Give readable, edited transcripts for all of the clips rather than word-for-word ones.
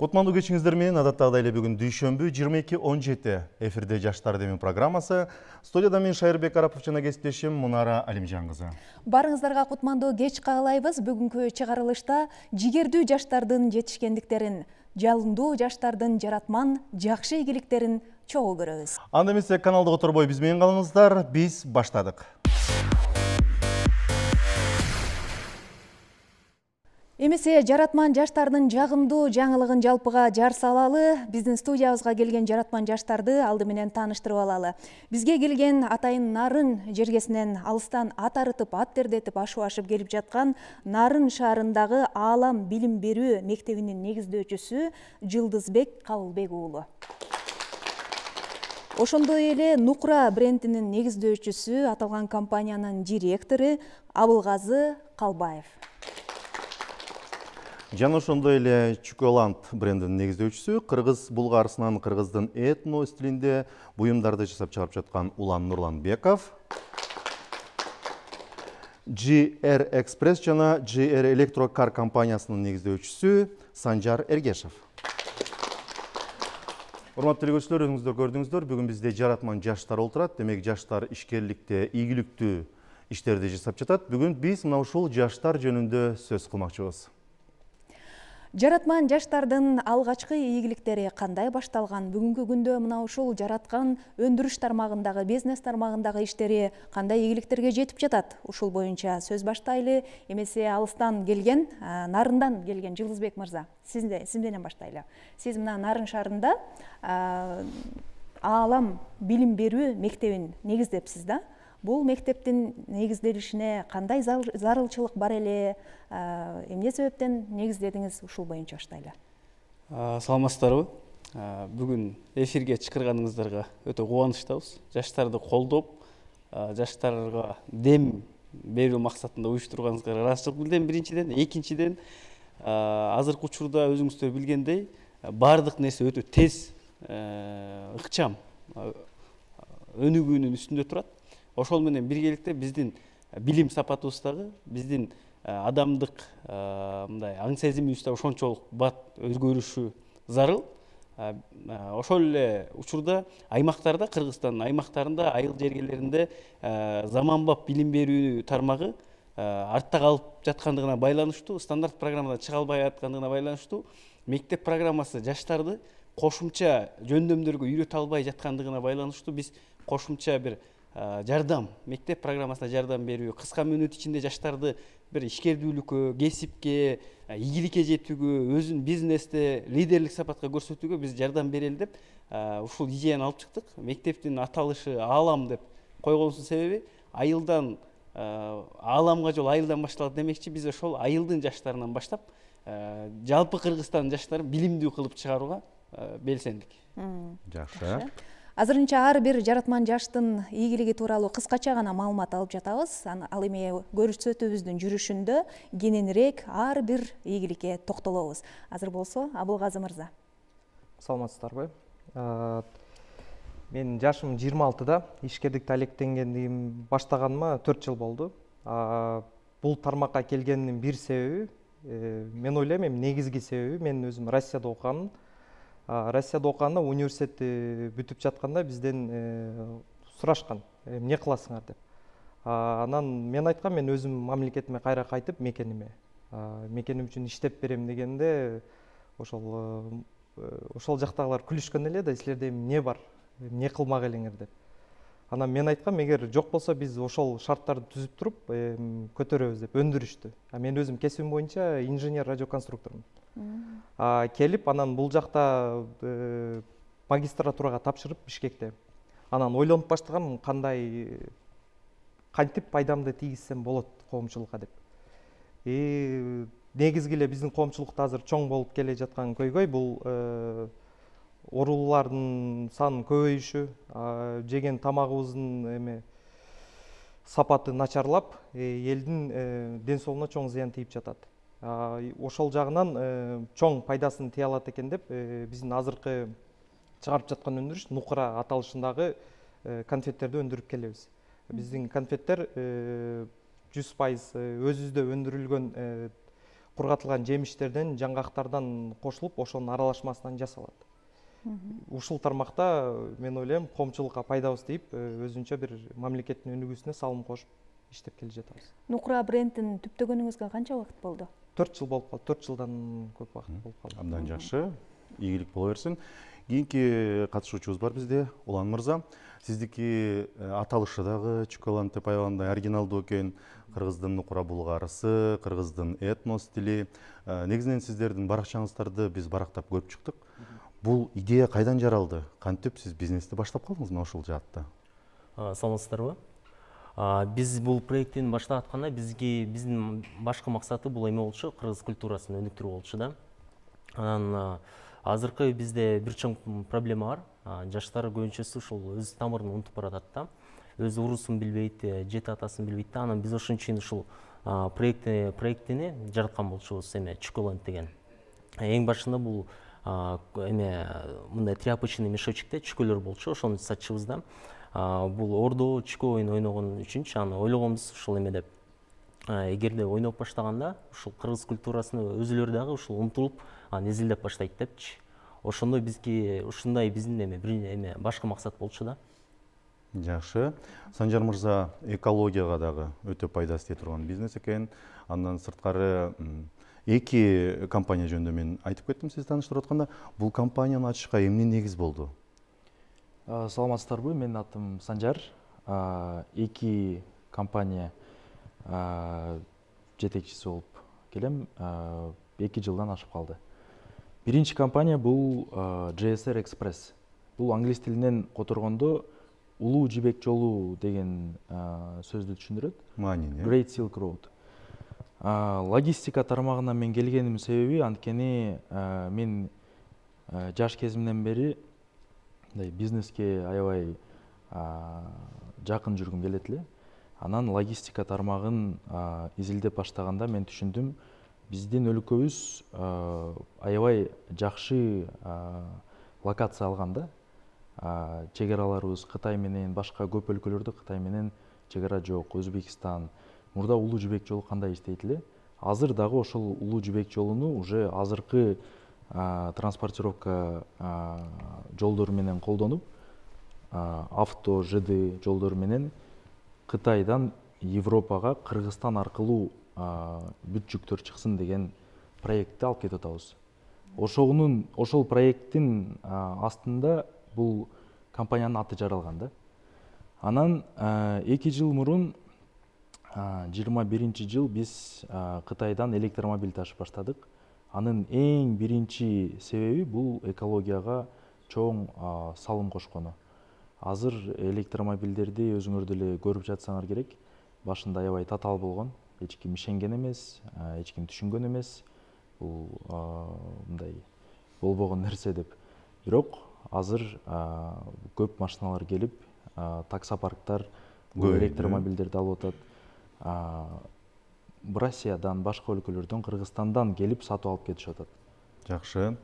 Кутмандуу кечиңиздер менен адаттагыдай эле бүгүн дүйшөмбү 22:17 эфирде Жаштар демин программасы. Студияда мен Шайырбек Арапов жана кесиптешим Мунара Алимжан кызы. Барыңыздарга кутмандуу кеч каалайбыз. Бүгүнкү чыгарылышта жигердүү жаштардын жетишкендиктерин, жалындуу жаштардын жаратман жакшы ийгиликтерин чогуу көрөбүз. Анда эмесе каналды которбой биз менен калыңыздар. Биз баштадык. Эмесе жаратман жаштардын жагымдуу жаңылыгын жалпыга жар салалы. Биздин студиябызга келген жаратман жаштарды алды менен тааныштырып алалы. Бизге келген атайын Нарын жергесинен алыстан ат арытып, ат тердетип, ашып келип жаткан Нарын шаарындагы Аалам билим берүү мектебинин негиздөөчүсү Жылдызбек Кабылбек уулу. Ошондой эле Нукра брендинин негиздөөчүсү, аталган компаниянын директору Абылгазы Калбаев. Жана ошондой эле Чуколанд брендинин негиздөөчүсү, кыргыз булгарысынан кыргыздын этно стилинде буюмдарды жасап чыгарып жаткан Улан Нурланбеков. GR Express жана GR Electrokar компаниясынын негиздөөчүсү Санжар Эргешев. Урматтуу көрүүчүлөр, өзүңүздөр көрдүңүздөр, бүгүн бизде жаратман жаштар олтурат. Демек, жаштар ишкерликте ийгиликтүү иштерди жасап жатат. Бүгүн биз мына ушул жаштар жөнүндө сөз кылмакчыбыз. Жаратман жаштардын алгачкы ийгиликтери кандай башталган? Бүгүнкү күндө мына ушул жараткан өндүрүш тармагындагы, бизнес тармагындагы иштери кандай ийгиликтерге жетип жатат? Ушул боюнча сөз баштайлы. Эмесе алыстан келген, Нарындан келген Жылдызбек мырза, сиз менен баштайлы. Сиз мына Нарын шаарында Аалам билим берүү мектебин негиздепсиз да? Бул мектептин негизделишине кандай зарылчылык бар эле? Эмне себептен негиздедиңиз? Ушул боюнча баштайлы. Саламатсыздарбы? Бүгүн эфирге чакырганыңыздарга өтө кубанычтабыз. Жаштарды колдоп, жаштарга дем берүү максатында уюштурганыңызга ыраазычылык билдирем биринчиден. Экинчиден, азыркы учурда өзүңүздөр билгендей, баардык нерсе өтө тез, ыкчам, өнүгүүнүн үстүндө турат. Ошол менен биргеликте биздин билим сапатыбыз дагы, биздин адамдык мындай аң сезимибиз да ошончолук бат өзгөрүшү зарыл. Ошол эле учурда аймактарда, Кыргызстандын аймактарында, айыл жергелеринде заманбап билим берүү тармагы артта калып жаткандыгына байланыштуу, стандарт программадан чыга албай аткандыгына байланыштуу, мектеп программасы жаштарды кошумча жөндөмдөргө үйрөтө албай жаткандыгына байланыштуу биз кошумча бир жардам, мектеп программасына жардам берүү, кыска мөөнөт ичинде жаштарды бир ишкердүүлүккө, кесипке, ийгиликке жетүүгө, өзүн бизнесте лидерлик сапатка көрсөтүүгө биз жардам берели деп ушул идеяны алып чыктык. Мектептин аталышы Аалам деп койгонубуздун себеби айылдан ааламга жол айылдан башталат демекчи, биз ошол айылдын жаштарынан баштап жалпы Кыргызстандын жаштарын билимдүү кылып чыгарууга белсендик. Жакшы. Азырынча ар бир жаратман жаштын ийгилиги тууралуу кыскача гана маалымат алып жатабыз. Ал эми көрсөтүүбүздүн жүрүшүндө кененирээк ар бир ийгиликке токтолобуз. Азыр болсо, Абылгазы мырза. Саламатсыздарбы? Мен жашым 26-да, ишкердикти алектенгендигим баштаганыма 4 жыл болду. Бул тармакка келгендин бир себеби, мен ойлойм, негизги себеби мен өзүм Россияда окуганмын. Россияда окуганда университетти бүтүп жатканда бизден сурашкан, эмне кыласыңар деп. Анан мен айткам, мен өзүм мамлекетиме кайра кайтып, мекеним үчүн иштеп берем дегенде, ошол жактагылар күлүшкөн эле да, силерде эмне бар, эмне кылмак элеңер деп. Анан мен айткам, эгер жок болсо биз ошол шарттарды түзүп туруп көтөрөбүз деп, өндүрүштү. Мен өзүм кесибим боюнча инженер радиоконструктормун. Келип, анан бул жакта магистратурага тапшырып Бишкекте. Анан ойлонуп баштагам, кантип пайдамды тийгизсем болот коомчулукка деп. Негизги эле биздин коомчулукта азыр чоң болуп келе жаткан көйгөй бул оорулардын санынын көбөйүшү, жеген тамагыбыздын сапаты начарлап, элдин ден соолугуна чоң зыян тийип жатат. Ошол жагынан чоң пайдасын тие алат экен деп, биздин азыркы чыгарып жаткан өндүрүш Нукра аталышындагы конфеттерди өндүрүп келебиз. Биздин конфеттер 100% өзүбүздө өндүрүлгөн кургатылган жемиштерден, жаңгактардан кошулуп, ошонун аралашмасынан жасалат. Ушул тармакта мен ойлойм коомчулукка пайдабыз тийип, өзүнчө бир мамлекеттин өнүгүүсүнө салым кошуп иштеп келе жатабыз. Нукура брендин түптөгөнүңүзгө канча убакыт болду? 4 жыл болуп калды. 4 жылдан көп убакыт болуп калды. Абдан жакшы. Ийгилик боло берсин. Кийинки катышуучубуз бар бизде, Улан мырза. Сиздики аталышы дагы Чуколант деп аябагандай оригиналдуу экен. Кыргыздын нукура булгарысы, кыргыздын этнос тили. Негизинен сиздердин баракчаңыздарды биз барактап көрүп чыктык. Бул идея кайдан жаралды? Кантип сиз бизнести баштап калдыңыз мына ушул жаатта? Саламатсыздарбы? Биз бул проекттин баштап атканда биздин башкы максаты бул эме болчу, кыргыз культурасын өнүктүрүү болчу да. Анан азыркы бизде бир чоң проблема бар. Жаштар көбүнчөсү ушул өз тамырын унутуп баратат да. Өз уруусун билбейт, жети атасын билбейт да. Анан биз ошон үчүн ушул проекттини жараткан болчубуз, эме Чуколант деген. Эң башында бул эме мындай тряпочный мешочекте чүкөлөр болчу, ошону сатчыбыз да. Бул ордо чүкө оюн ойногон үчүнчү аны ойлогонбуз ушул эме деп. Эгерде ойноп баштаганда ушул кыргыз культурасын өзүлөрү дагы ушул умтулуп, изилдеп баштайт депчи. Ошондой ушундай биздин эме башкы максат болчу да. Жакшы. Санжар мырза, экологияга дагы өтө пайдасы тие турган бизнес экен. Андан сырткары эки компания жөнүндө мен айтып кеттим сиз тааныштырып атканда. Бул компанияны ачышка эмне негиз болду? Саламатсыздарбы, менин атым Санжар. Эки компания жетекчиси болуп келем. 2 жылдан ашып калды. Биринчи компания бул JSR Express. Бул англис тилинен которгондо улуу жибек жолу деген сөздү түшүндүрөт. Маанини. Great Silk Road. Логистика тармагына мен келгеним себеби анткени мен жаш кезимден бери бизнеске аябай жакын жүргүм келет эле. Анан логистика тармагын изилдеп баштаганда мен түшүндүм, биздин өлкөбүз аябай жакшы локация алган да. Чегараларыбыз Кытай менен, башка көп өлкөлөрдө Кытай менен чегара жок. Өзбекстан, мурда улуу жибек жолу кандай иштейт эле? Азыр дагы ошол улуу жибек жолуну уже азыркы транспортировка жолдору менен колдонуп, авто, ЖД жолдору менен Кытайдан Европага, Кыргызстан аркылуу бүт жүктөр чыксын деген проектти алып кетип атабыз. Ошол проекттин астында бул компаниянын аты жаралган да. Анан 2 жыл мурун 21 жыл биз Кытайдан электромобиль ташып баштадык. Анын эң биринчи себеби бул экологияга чоң салым кошкону. Азыр электромобилдерди өзүңөр деле көрүп жатсаңар керек. Башында аябай татаал болгон, эч ким ишенген эмес, эч ким түшүнгөн эмес. Бул мындай болбогон нерсе деп. Бирок азыр көп машиналар келип, таксопарктар бул электромобилдерди алып атат. Россиядан, башка өлкөлөрдөн, Кыргызстандан келип сатып алып кетишип атат. Жакшы.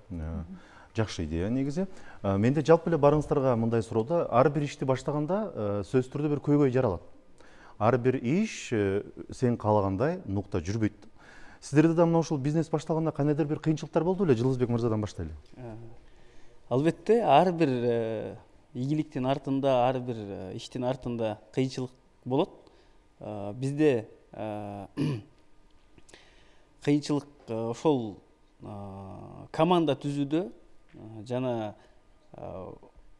Жакшы идея негизи. Менде жалпы эле барыңыздарга мындай суроо да, ар бир ишти баштаганда сөзсүз түрдө бир көйгөй жаралат. Ар бир иш сен каалагандай нукта жүрбөйт. Сиздерде да мына ушул бизнес баштаганда кандайдыр бир кыйынчылыктар болду беле? Жылызбек мырзадан баштайлы. Албетте, ар бир ийгиликтин артында, ар бир иштин артында кыйынчылык болот. Бизде кыйынчылык ошол команда түзүүдө жана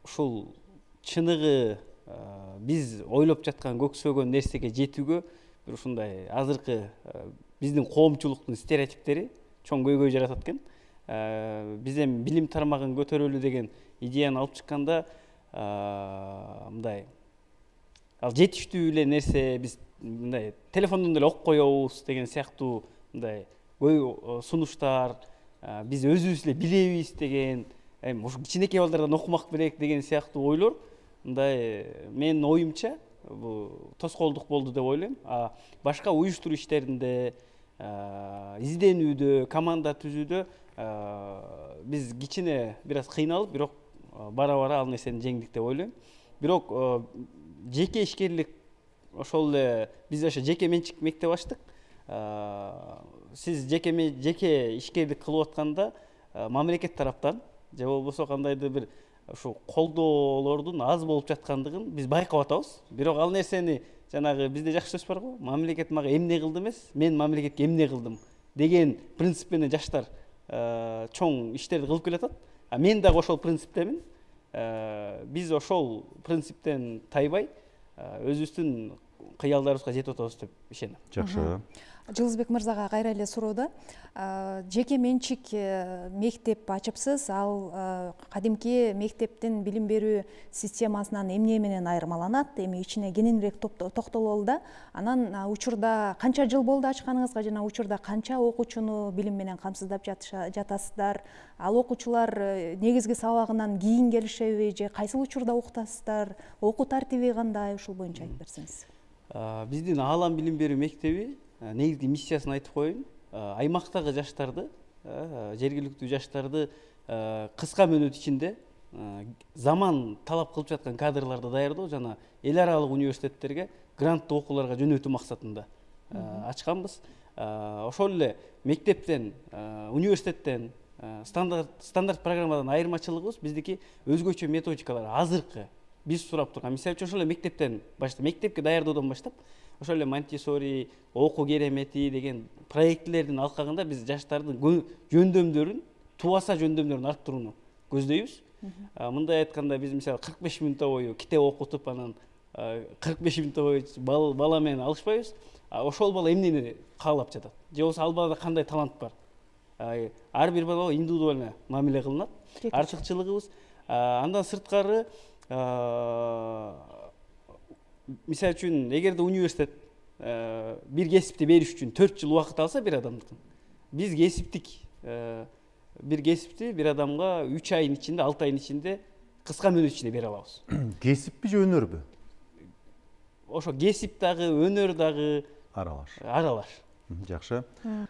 ушул чыныгы биз ойлоп жаткан көксөгөн нерсеге жетүүгө бир ушундай азыркы биздин коомчулуктун стереотиптери чоң көйгөй жаратат экен. Биз эми билим тармагын көтөрөлү деген идеяны алып чыкканда мындай ал жетиштүү эле нерсе, биз мындай телефондон деле окуп коебуз деген сыяктуу мындай сунуштар, биз өзүбүз эле билебиз деген, эми ушу кичинекей балдардан окумак керек деген сыяктуу ойлор мындай менин оюмча бул тоскоолдук болду деп ойлойм. Башка уюштуруу иштеринде, изденүүдө, команда түзүүдө биз кичине бир аз кыйналып, бирок бара-бара ал нерсени жеңдик деп ойлойм. Бирок жеке ишкерлик ошол эле биз ошо жеке менчик мектеп ачтык. сиз жеке ишкердик кылып атканда мамлекет тараптан же болбосо кандайдыр бир ушу колдоолордун аз болуп жаткандыгын биз байкап атабыз. Бирок ал нерсени жанагы бизде жакшы сөз бар го, мамлекет мага эмне кылды эмес, мен мамлекетке эмне кылдым деген принцип менен жаштар чоң иштерди кылып келатат. Мен дагы ошол принциптемин. Биз ошол принциптен тайбай өзүбүздүн кыялдарыбызга жетип атабыз деп ишенем. Жакшы. Жылызбек мырзага кайра эле суроо да. Жеке менчик мектеп ачыпсыз. Ал кадимки мектептин билим берүү системасынан эмне менен айырмаланат? Эми ичине кененирээк токтололу да. Анан учурда канча жыл болду ачканыңызга жана учурда канча окуучуну билим менен камсыздап жатасыздар? Ал окуучулар негизги сабагынан кийин келишеби же кайсыл учурда окутасыздар? Окуу тартиби кандай? Ушул боюнча айтып берсеңиз. Биздин Аалам билим берүү мектеби негизги миссиясын айтып коеюн. Аймактагы жаштарды, жергиликтүү жаштарды кыска мөөнөт ичинде заман талап кылып жаткан кадрларды даярдоо жана эл аралык университеттерге гранттуу окууларга жөнөтүү максатында ачканбыз. Ошол эле мектептен, университеттен, стандарт программадан айырмачылыгыбыз биздики өзгөчө методикалар азыркы биз сурап турган. Мисалы үчүн ошол эле мектептен баштап, мектепке даярдоодон баштап ошол эле Монтессори, окуу керемети деген проектилердин алкагында биз жаштардын жөндөмдөрүн, тубаса жөндөмдөрүн арттырууну көздөйбүз. Мындай айтканда биз мисалы 45 мүнөт бою китеп окутуп, анан 45 мүнөт бою бала менен алышпайбыз. Ошол бала эмнени каалап жатат? Же болбосо ал балада кандай талант бар? Ар бир балага индивидуально мамиле кылынат. Артыкчылыгыбыз андан сырткары мисалы үчүн эгерде университет бир кесипти бериш үчүн 4 жыл убакыт алса бир адамдыкын, биз бир кесипти бир адамга 3 айдын ичинде, 6 айдын ичинде кыска мөөнөт ичинде бере алабыз. Кесиппи же өнөрбү? Ошо кесип дагы, өнөр дагы аралаш. Жакшы.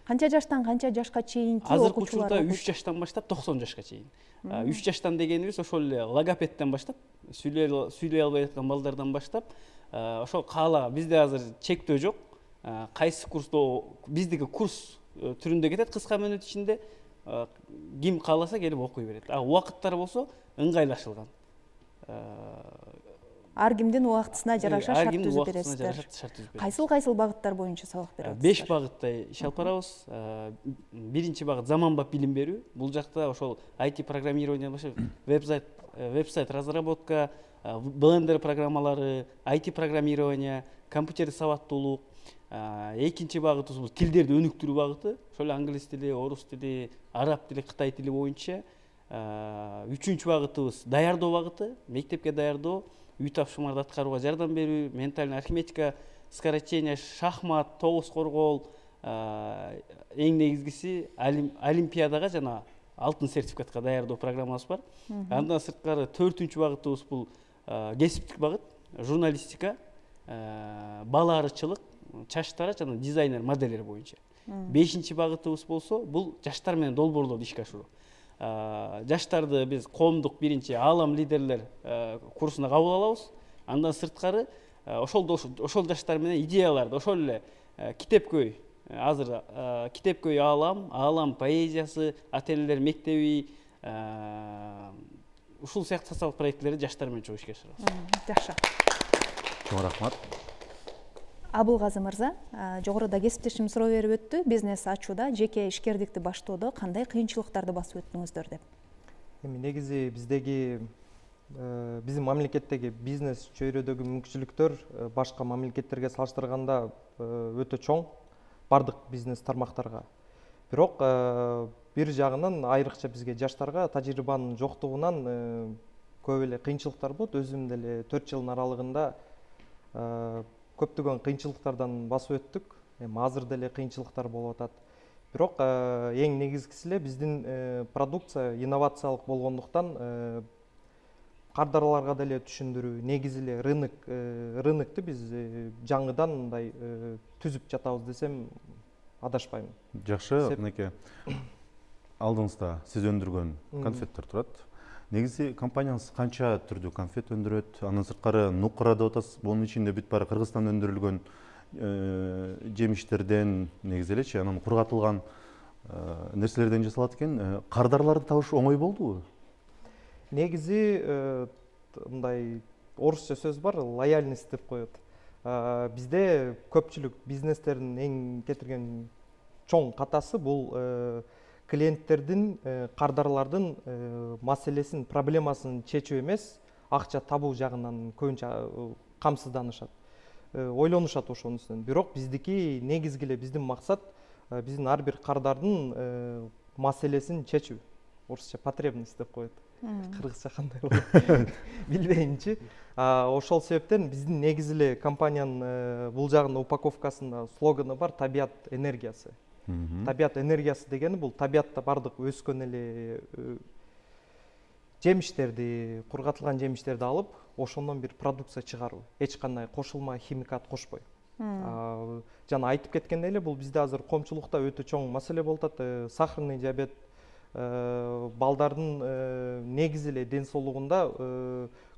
Канча жаштан канча жашка чейинки азыркы окуучулар? учурда 3 жаштан баштап 90 жашка чейин. 3 жаштан дегенибиз ошол эле логопедден баштап, сүйлөй албай жаткан балдардан баштап, ошол каалаган бизде азыр чектөө жок. Кайсы курста биздики курс түрүндө кетет, кыска мөөнөт ичинде ким кааласа келип окуй берет. Убакыттар болсо ыңгайлашылган. Ар кимдин убактысына жараша шарт түзүп бересиздер. Кайсыл багыттар боюнча сабак бересиздер? 5 багытта иш алып барабыз. Биринчи багыт заманбап билим берүү. Бул жакта ошол IT программированиядан баштап веб-сайт разработка, Blender программалары, IT программирование, компьютер сабаттуулук. Экинчи багытыбыз бул тилдерди өнүктүрүү багыты. Ошол англис тили, орус тили, араб тили, кытай тили боюнча. Үчүнчү багытыбыз даярдоо багыты, мектепке даярдоо, үй тапшырмаларды аткарууга жардам берүү, ментальная арифметика, скорочтение, шахмат, тогуз коргоол, эң негизгиси олимпиадага жана алтын сертификатка даярдоо программабыз бар. Андан сырткары 4-үнчү багытыбыз бул кесиптик багыт, журналистика, бала арычылык, чач тараш жана дизайнер модельдер боюнча. 5-чи багытыбыз болсо бул жаштар менен долбоорлорду ишке ашыруу. Жаштарды биз коомдук биринчи Аалам лидерлер курсуна кабыл алабыз. Андан сырткары ошол жаштар менен идеяларды, ошол эле китепкөй, азыр китепкөй Аалам поэзиясы, ата-энелер мектеби, ушул сыяктуу социалдык проектилерди жаштар менен чогуу ишке ашырабыз. Жакшы. Чоң рахмат. Абылгазы мырза, жогоруда кесиптешим суроо берип өттү. Бизнес ачууда, жеке ишкердикти баштоодо кандай кыйынчылыктарды басып өттүңүздөр деп. Эми негизи биздин мамлекеттеги бизнес чөйрөдөгү мүмкүнчүлүктөр башка мамлекеттерге салыштырганда өтө чоң, бардык бизнес тармактарга. Бирок бир жагынан айрыкча бизге жаштарга тажрыйбанын жоктугунан көп эле кыйынчылыктар болот. Өзүм деле 4 жылдын аралыгында көптөгөн кыйынчылыктардан басып өттүк. Азыр деле кыйынчылыктар болуп атат. Бирок эң негизгиси эле биздин продукция инновациялык болгондуктан кардарларга деле түшүндүрүү, негизи эле рынокту биз жаңыдан мындай түзүп жатабыз десем адашпайм. Жакшы, мынакей. Алдыңызда сиз өндүргөн конфеттер турат. Негизи компанияңыз канча түрдүү конфет өндүрөт? Андан сырткары Нуккара деп атасыз. Бунун ичинде бүт баары Кыргызстанда өндүрүлгөн жемиштерден негизи элечи, анан кургатылган нерселерден жасалат экен. Кардарларды табыш оңой болдубу? Негизи мындай орусча сөз бар, лояльность деп коет. Бизде көпчүлүк бизнестердин эң кетирген чоң катасы бул клиенттердин, кардарлардын маселесин, проблемасын чечүү эмес, акча табуу жагынан көбүнчө камсызданышат, ойлонушат ошонун үстүнөн. Бирок биздики негизги эле биздин максат биздин ар бир кардардын маселесин чечүү. Орусча потребность деп коет. Кыргызча кандай болот билбеймчи. Ошол себептен биздин негизи эле компаниянын бул жагында упаковкасында слоганы бар: табият энергиясы. Табият энергиясы дегени бул табиятта бардык өскөн эле жемиштерди, кургатылган жемиштерди алып, ошондон бир продукция чыгаруу. Эч кандай кошулма химикат кошпой. Жана айтып кеткендей эле, бул бизде азыр коомчулукта өтө чоң маселе болуп атат. Сахарный диабет, балдардын негизи эле ден соолугунда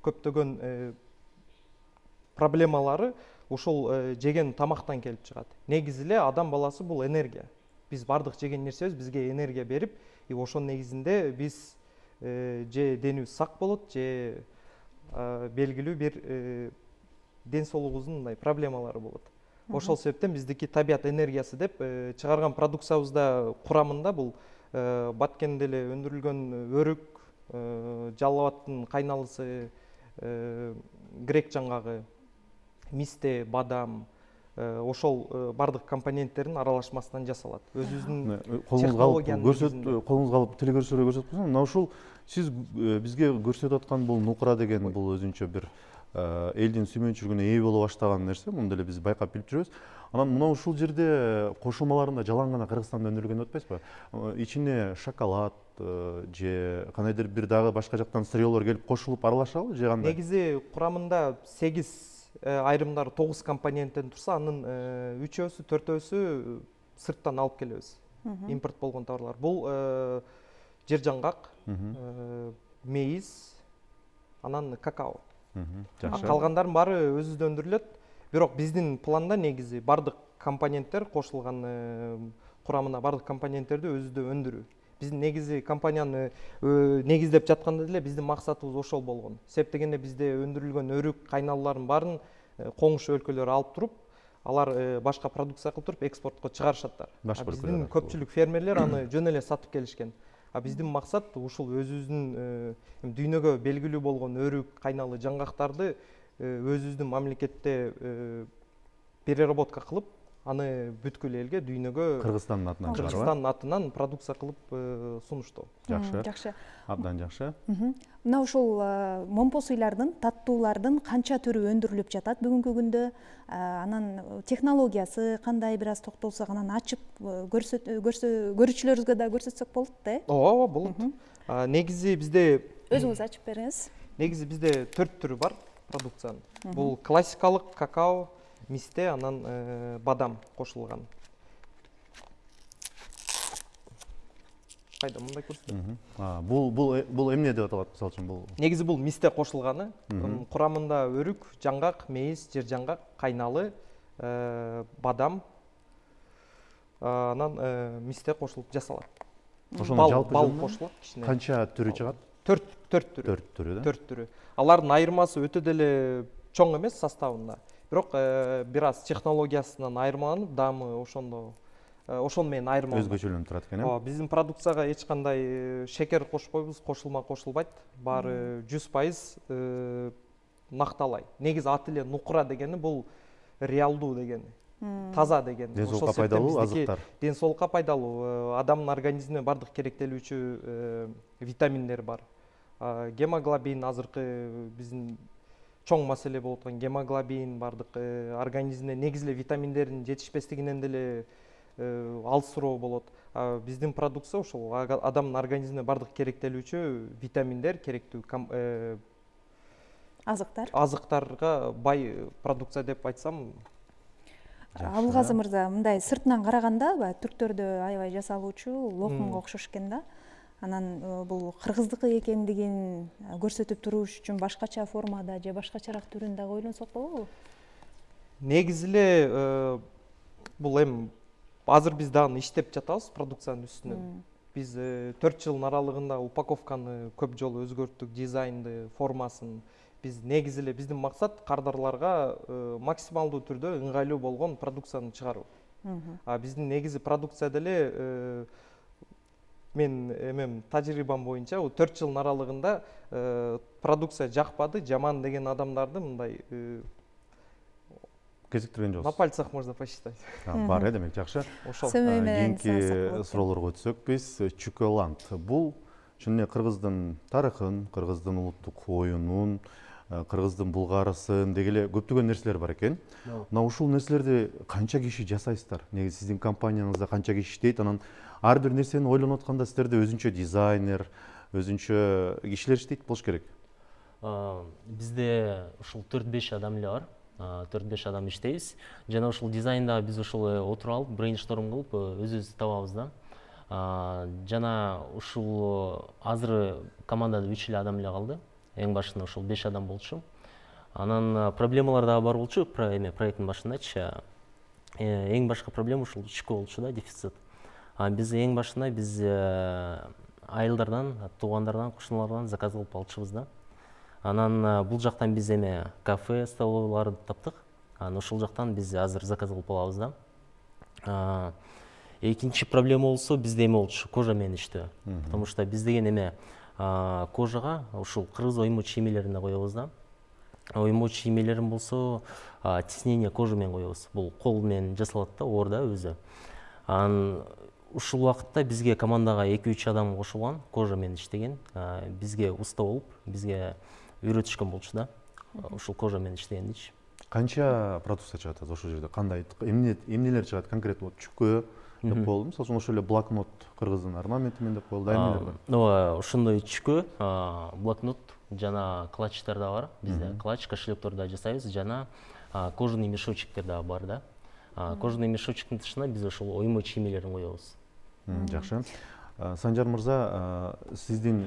көптөгөн проблемалары ошол жеген тамактан келип чыгат. Негизи эле адам баласы бул энергия. Биз бардык жеген нерсебиз бизге энергия берип, ошонун негизинде биз же денибиз сак болот, же белгилүү бир ден соолугубуздун мындай проблемалары болот. Ошол себептен биздики табият энергиясы деп чыгарган продукциябызда курамында бул Баткенде эле өндүрүлгөн өрүк, жалал абадтын кайналысы, грек жаңгагы, мисте, бадам, ошол бардык компоненттердин аралашмасынан жасалат. Өзүбүздүн колуңузга алып телекөрсөтүүгө көрсөтүп койсоң, мына ушул сиз бизге көрсөтүп аткан бул нукура деген бул өзүнчө бир элдин сүймөнчүлүгүнө ээ боло баштаган нерсе. Муну деле биз байкап билип жүрөбүз. Анан мына ушул жерде кошулмаларында жалаң гана Кыргызстанда өндүрүлгөн деп атпайсызбы? Ичине шоколад же кандайдыр бир дагы башка жактан сырьёлор келип кошулуп аралашабы же кандай? Негизи курамында 8, айрымдары 9 компоненттен турса, анын 3-өсү, 4-өсү сырттан алып келебиз. Импорт болгон товарлар. Бул жер жаңгак, мейиз, анан какао. Калгандардын баары өзүбүздө өндүрүлөт. Бирок биздин планда негизи бардык компоненттер кошулган, курамына бардык компоненттерди өзүбүздө өндүрүү. Биздин негизи компанияны негиздеп жатканда деле биздин максатыбыз ошол болгон. Себеп дегенде бизде өндүрүлгөн өрүк кайналууларын баарын коңшу өлкөлөр алып туруп, алар башка продукция кылып туруп экспортко чыгарышаттар. Биздин көпчүлүк фермерлер аны жөн эле сатып келишкен. Биздин максат ушул өзүбүздүн дүйнөгө белгилүү болгон өрүк, кайналы жаңгактарды өзүбүздүн мамлекетте переработка кылып, аны бүткүл элге, дүйнөгө Кыргызстандын атынан продукция кылып сунуштоо. Жакшы. Абдан жакшы. Мына ушул момпо суйлардын, таттуулардын канча түрү өндүрүлүп жатат бүгүнкү күндө? Анан технологиясы кандай, бир аз токтолсок, анан ачып көрүүчүлөрүбүзгө да көрсөтсөк болот да? Ооба, болот. Негизи бизде өзүңүз ачып бериңиз. Негизи бизде 4 түрү бар продукциянын. Бул классикалык какао, мисте, анан бадам кошулган. Кайда мындай көрсөтөм. Бул эмне деп аталат, мисалы үчүн бул? Негизи бул мисте кошулганы. Курамында өрүк, жаңгак, мейиз, жер жаңгак, кайналы, бадам, анан мисте кошулуп жасалат. Бал кошулат кичине. Канча түрү чыгат? 4 түрү. 4 түрү да? 4 түрү. Алардын айырмасы өтө деле чоң эмес составында. Бирок бир аз технологиясынан айырмаланып, даамы ошону менен айырмаланат. Өзгөчөлөнүп турат экен, Ооба, биздин продукцияга эч кандай шекер кошпойбуз, кошулма кошулбайт. Баары 100% накталай. Негизи аты эле нукура дегени бул реалдуу дегени. Таза дегени. Ден соолукка пайдалуу азыктар. Ден соолукка пайдалуу, адамдын организмине бардык керектелүүчү витаминдер бар. Гемоглобин азыркы биздин чоң маселе болуп аткан гемоглобин бардык организмде негизи эле витаминдердин жетишпестигинен деле алсыроо болот. Биздин продукция ошол адамдын организмине бардык керектелүүчү витаминдер, керектүү азыктарга бай продукция деп айтсам. Абылгазы мырза, мындай сыртынан караганда түрктөрдө аябай жасалуучу локумга окшош экен да. Анан бул кыргыздыкы экендигин көрсөтүп туруш үчүн башкача формада же башкачараак түрүн дагы ойлонсок болобу? негизи эле бул эми азыр биз дагы иштеп жатабыз продукциянын үстүнөн. Биз 4 жылдын аралыгында упаковканы көп жолу өзгөрттүк, дизайнды, формасын. Биз негизи эле биздин максат кардарларга максималдуу түрдө ыңгайлуу болгон продукцияны чыгаруу. Биздин негизи продукция деле мен эмем тажрыйбам боюнча 4 жылдын аралыгында продукция жакпады, жаман деген адамдарды мындай кезиктирген жоксуз. На пальцах можно посчитать. Бар демек жакшы. Ошол. Кийинки суроолорго өтсөк биз, Чуколанд бул чын эле кыргыздын тарыхын, кыргыздын улуттук оюнун, кыргыздын булгарысын деги эле көптөгөн нерселер бар экен. Мына ушул нерселерди канча киши жасайсыздар? Негизи сиздин компанияңызда канча киши иштейт? Анан ар бир нерсени ойлонуп атканда силерде өзүнчө дизайнер, өзүнчө кишилер иштейт болуш керек. Бизде ушул 4-5 адам эле бар. 4-5 адам иштейбиз. Жана ушул дизайнда биз ушул отуруп алып, брейншторм кылып өзүбүз табабыз да. Жана ушул азыр командада 3 эле адам эле калды. Эң башында ушул 5 адам болчу. Анан проблемалар дагы бар болчу, проекттин башындачы. Эң башкы проблема ушул чүкө болчу да, дефицит. Биз эң башында биз айылдардан, туугандардан, кошуналардан заказ кылып алчубуз да. Анан бул жактан биз эме кафе, столовыйларды таптык. Анан ошол жактан биз азыр заказ кылып алабыз да. Экинчи проблема болсо бизде эме болчу, кожа менен иштөө. Потому что биз деген эме кожага ушул кыргыз оймо чиймелерин коебуз да. Оймо чиймелерин болсо тиснение кожа менен коебуз. Бул кол менен жасалат да, оор да өзү. Анан ушул убакытта бизге командага 2-3 адам кошулган, кожа менен иштеген. Бизге уста болуп, бизге үйрөтүшкөн болчу да. Ушул кожа менен иштегендичи. Канча продукция чыгат ошол жерде? Кандай эмнелер чыгат конкретно? Чүкө деп коелу. Мисалы үчүн ошол эле блокнот кыргыздын орнаменти менен деп коелу. Эмнелер бар? Ошондой чүкө, блокнот жана клатчтар да бар. Бизде клатч, кошелектор да жасайбыз, жана кожаный мешочектер да бар да. Кожаный мешочектин тышына биз ошол оймо чиймелерин коебуз. Жакшы. Санжар мырза, сиздин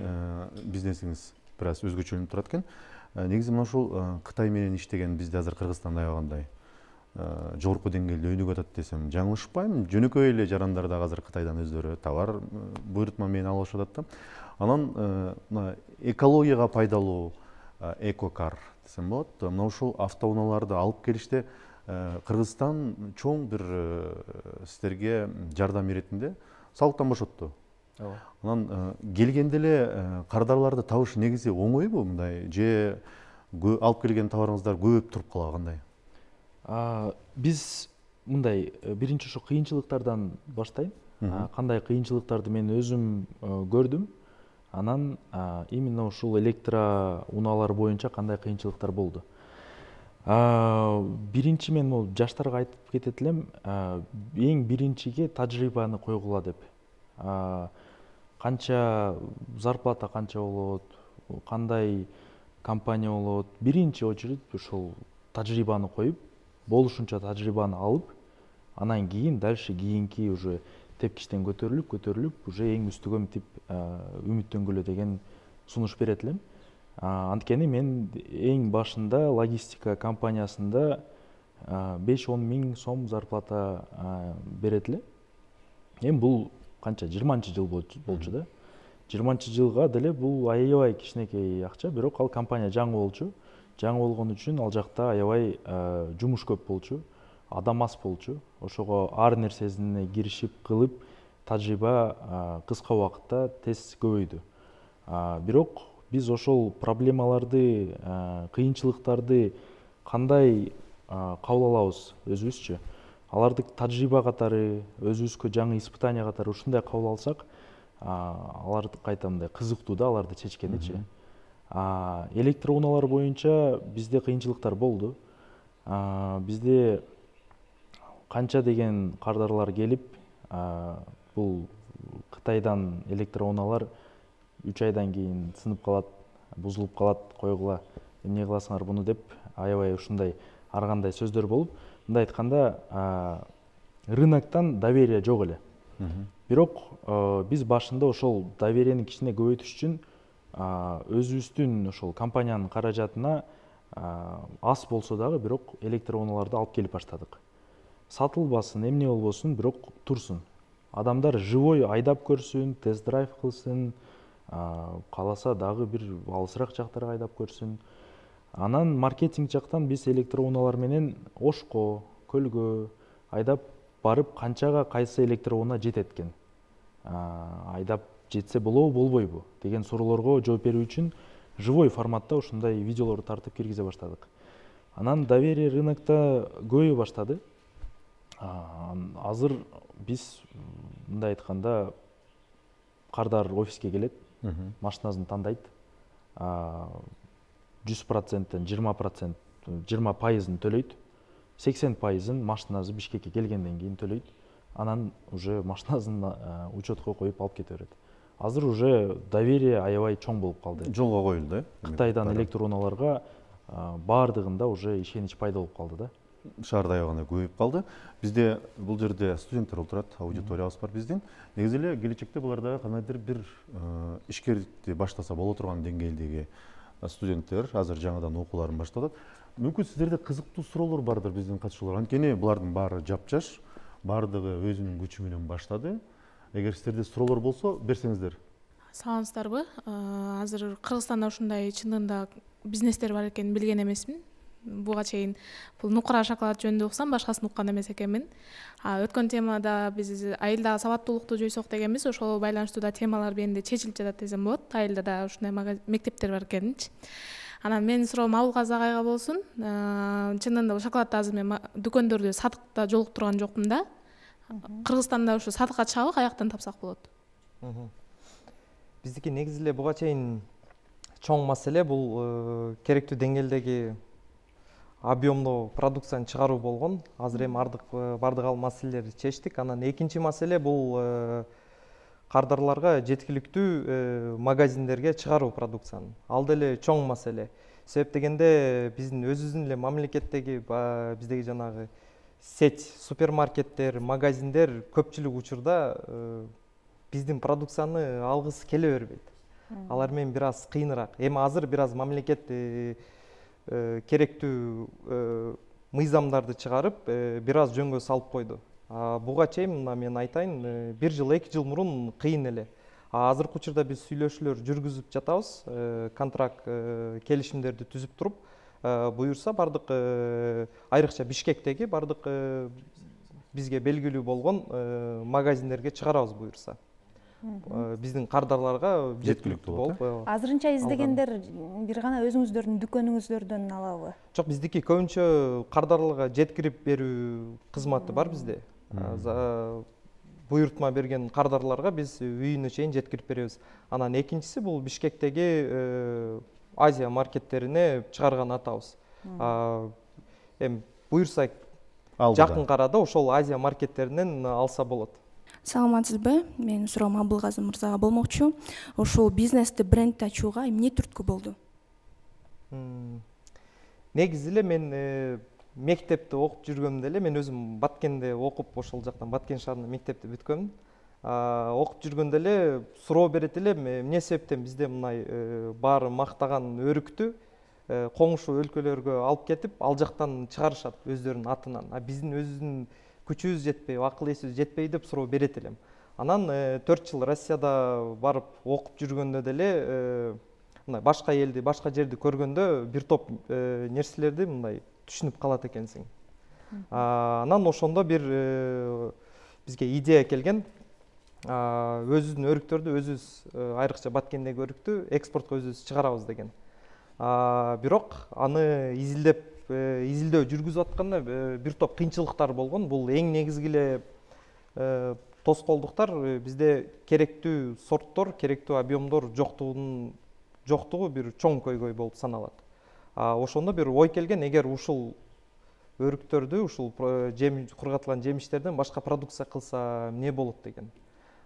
бизнесиңиз бир аз өзгөчөлүнүп турат экен. Негизи мына ушул Кытай менен иштеген бизде азыр Кыргызстанда аябагандай жогорку деңгээлде өнүгүп атат десем жаңылышпайм. Жөнөкөй эле жарандар дагы азыр Кытайдан өздөрү товар буйрутма менен алып атат да. Анан мына экологияга пайдалуу экокар десем болот. Мына ушул автоунааларды алып келиште Кыргызстан чоң бир сиздерге жардам иретинде салыктан бошотту. Анан келгенде эле кардарларды табыш негизи оңойбу мындай же алып келген товарыңыздар көбөйүп туруп калабы кандай? Биз мындай биринчи ушу кыйынчылыктардан баштайм. Кандай кыйынчылыктарды мен өзүм көрдүм. Анан именно ушул электроунаалар боюнча кандай кыйынчылыктар болду. Биринчи мен бул жаштарга айтып кетет элем, эң биринчиге тажрыйбаны койгула деп. Канча зарплата канча болот, кандай компания болот, биринчи очередь ушул тажрыйбаны коюп, болушунча тажрыйбаны алып, анан кийин дальше кийинки уже тепкичтен көтөрүлүп, уже эң үстүгө мынтип үмүттөнгүлө деген сунуш берет элем. Анткени мен эң башында логистика компаниясында 5-10 миң сом зарплата берет эле. Эми бул канча 20-жыл болчу да. 20-жылга деле бул аябай кичинекей акча, бирок ал компания жаңы болчу. Жаңы болгон үчүн ал жакта аябай жумуш көп болчу, адам аз болчу. Ошого ар нерсесине киришип кылып, тажрыйба кыска убакытта тез көбөйдү. Бирок биз ошол проблемаларды, кыйынчылыктарды кандай кабыл алабыз өзүбүзчү? Аларды тажрыйба катары, өзүбүзгө жаңы испытания катары ушундай кабыл алсак, алар кайта мындай кызыктуу да аларды чечкеничи. Электроунаалар боюнча бизде кыйынчылыктар болду. Бизде канча деген кардарлар келип, бул Кытайдан электроунаалар 3 айдан кийин сынып калат, бузулуп калат, койгула, эмне кыласыңар буну деп аябай ушундай ар кандай сөздөр болуп, мындай айтканда рыноктон доверие жок эле. Бирок биз башында ошол доверияны кичине көбөйтүш үчүн өзүбүздүн ошол компаниянын каражатына аз болсо дагы бирок электр унааларды алып келип баштадык. Сатылбасын, эмне болбосун, бирок турсун. Адамдар живой айдап көрсүн, тест-драйв кылсын, кааласа дагы бир алысыраак жактарга айдап көрсүн. Анан маркетинг жактан биз электр унаалар менен Ошко, көлгө айдап барып, канчага кайсы электр унаа жетет экен, айдап жетсе болобу, болбойбу деген суроолорго жооп берүү үчүн живой форматта ушундай видеолорду тартып киргизе баштадык. Анан доверие рынокто көбөйө баштады. Азыр биз мындай айтканда кардар офиске келет, машинасын тандайт, 100%тен 20% төлөйт, 80%-ын машинасы Бишкекке келгенден кийин төлөйт, анан уже машинасын учетко коюп алып кете берет. Азыр уже доверие аябай чоң болуп калды. Жолго коюлду, Кытайдан электр унааларга баардыгында уже ишенич пайда болуп калды да. Шаарда аябаганда көбөйүп калды. Бизде бул жерде студенттер отурат, аудиториябыз бар биздин. Негизи эле келечекте буларда кандайдыр бир ишкерликти баштаса боло турган деңгээлдеги студенттер азыр жаңыдан окууларын баштап атат. Мүмкүн сиздерде кызыктуу суроолор бардыр биздин катышуулар. Анткени булардын баары жапжаш, баардыгы өзүнүн күчү менен баштады. Эгер сиздерде суроолор болсо, берсеңиздер. Саламатсыздарбы? Азыр Кыргызстанда ушундай чынында бизнестер бар экенин билген эмесмин. Буга чейин бул нукура шоколад жөнүндө уксам, башкасын уккан эмес экенмин. Өткөн темада биз айылдагы сабаттуулукту жойсок дегенбиз, ошого байланыштуу да темалар бенде чечилип жатат десем болот. Айылда да ушундай мектептер бар экенинчи. Анан менин суроом Абылгазы агайга болсун. Чынында бул шоколадты азыр мен дүкөндөрдө сатыкта жолуктурган жокмун да. Кыргызстанда ушу сатыкка чыгабы, каяктан тапсак болот? Биздики негизи эле буга чейин чоң маселе бул керектүү деңгээлдеги объемдуу продукцияны чыгаруу болгон. Азыр эми бардык ал маселелерди чечтик. Анан экинчи маселе бул кардарларга жеткиликтүү магазиндерге чыгаруу продукцияны. Ал деле чоң маселе. Себеп дегенде биздин өзүбүздүн эле мамлекеттеги биздеги жанагы сеть супермаркеттер, магазиндер көпчүлүк учурда биздин продукцияны алгысы келе бербейт. Алар менен бир аз кыйыныраак. Эми азыр бир аз мамлекет керектүү мыйзамдарды чыгарып, бир аз жөнгө салып койду. Буга чейин мына мен айтайын, 1 жыл, 2 жыл мурун кыйын эле. Азыркы учурда биз сүйлөшүүлөр жүргүзүп жатабыз, контракт келишимдерди түзүп туруп, буюрса бардык айрыкча Бишкектеги бардык бизге белгилүү болгон магазиндерге чыгарабыз буюрса. Биздин кардарларга жеткиликтүү болуп. Азырынча издегендер бир гана өзүңүздөрдүн дүкөнүңүздөрдөн алабы? Жок, биздики көбүнчө кардарларга жеткирип берүү кызматы бар бизде. Буйртма берген кардарларга биз үйүнө чейин жеткирип беребиз. Анан экинчиси бул Бишкектеги Азия маркеттерине чыгарган атабыз. Эми буйрса жакын арада ошол Азия маркеттеринен алса болот. Саламатсызбы? Менин суроом Абылгазы мырзага болмокчу. Ошол бизнести брендти ачууга эмне түрткү болду? Негизи эле мен мектепте окуп жүргөндө эле, мен өзүм Баткенде окуп, ошол жактан Баткен шаарында мектепти бүткөмүн. Окуп жүргөндө эле суроо берет элем, эмне себептен бизде мындай баары мактаган өрүктү коңшу өлкөлөргө алып кетип, ал жактан чыгарышат өздөрүнүн атынан. Биздин өзүбүздүн күчүбүз жетпей, акыл эсибиз жетпей деп суроо берет элем. Анан 4 жыл Россияда барып окуп жүргөндө деле мындай башка элди, башка жерди көргөндө бир топ нерселерди мындай түшүнүп калат экенсиң. Анан ошондо бир бизге идея келген. Өзүбүздүн өрүктөрдү өзүбүз, айрыкча Баткендеги өрүктү экспортко өзүбүз чыгарабыз деген. Бирок аны изилдөө жүргүзүп атканда бир топ кыйынчылыктар болгон. Бул эң негизги эле тоскоолдуктар бизде керектүү сорттор, керектүү объемдор жоктугу бир чоң көйгөй болуп саналат. Ошондо бир ой келген, эгер ушул өрүктөрдү, ушул кургатылган жемиштерден башка продукция кылса эмне болот деген.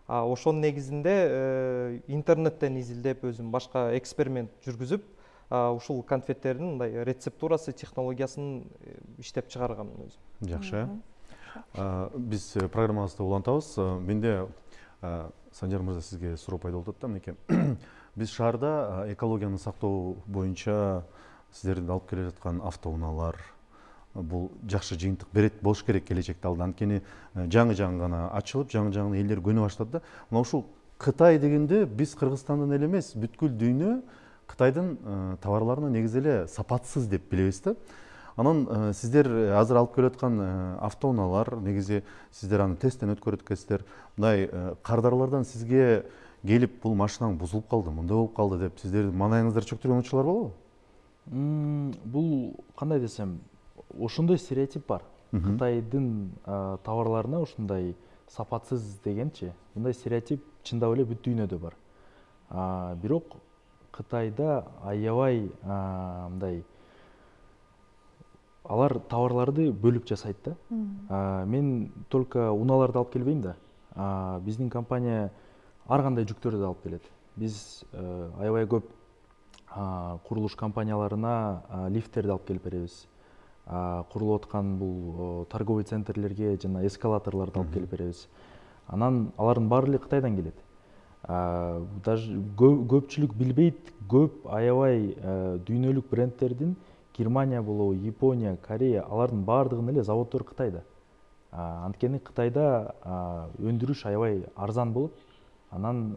Ошонун негизинде интернеттен изилдеп, өзүм башка эксперимент жүргүзүп, ушул конфеттердин мындай рецептурасы, технологиясын иштеп чыгарганмын өзүм. Жакшы. Биз программабызды улантабыз. Менде Санжар мырза сизге суроо пайда болуп атат да, мынекей. Биз шаарда экологияны сактоо боюнча сиздердин алып келе жаткан автоунаалар бул жакшы жыйынтык берет болуш керек келечекте алда. Анткени жаңы гана ачылып, жаңы элдер көнө баштады да. Мына ушул Кытай дегенде биз Кыргызстандын эле эмес, бүткүл дүйнө Кытайдын товарларына негизи эле сапатсыз деп билебиз да. Анан сиздер азыр алып келе жаткан автоунаалар негизи сиздер аны тесттен өткөрүп өткөнсүздөр. Мындай кардарлардан сизге келип бул машинаң бузулуп калды, мындай болуп калды деп сиздердин маанайыңыздар чөктүргөн учурлар болобу? Бул кандай десем, ошондой стереотип бар. Кытайдын товарларына ушундай сапатсыз дегенчи, мындай стереотип чындап эле бүт дүйнөдө бар. Бирок Кытайда аябай мындай алар товарларды бөлүп жасайт да. Мен только унааларды алып келбейм да. Биздин компания ар кандай жүктөрдү алып келет. Биз аябай көп курулуш компанияларына лифттерди алып келип беребиз. Курулуп аткан бул торговый центрлерге жана эскалаторлорду алып келип беребиз. Анан алардын баары эле Кытайдан келет. Даже көпчүлүк билбейт, көп аябай дүйнөлүк брендтердин Германия болобу, Япония, Корея, алардын баардыгынын эле заводдору Кытайда. Анткени Кытайда өндүрүш аябай арзан болот, анан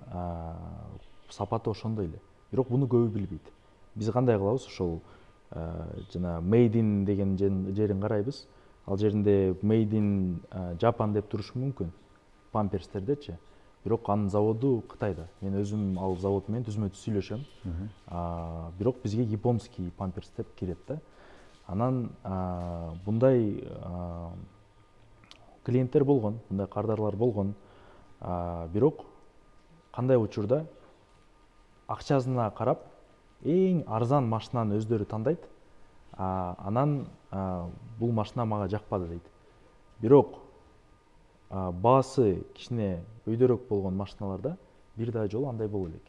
сапаты ошондой эле. Бирок буну көбү билбейт. Биз кандай кылабыз, ошол жана made in деген жерин карайбыз. Ал жеринде made in Japan деп турушу мүмкүн, памперстердечи. Бирок анын заводу Кытайда. Мен өзүм ал завод менен түзмө-түз сүйлөшөм. Бирок бизге японский памперс деп кирет да. Анан мындай клиенттер болгон, мындай кардарлар болгон. Бирок кандай учурда акчасына карап эң арзан машинаны өздөрү тандайт. Анан бул машина мага жакпады дейт. Бирок баасы кичине өйдөрөөк болгон машиналарда бир да жолу андай боло элек.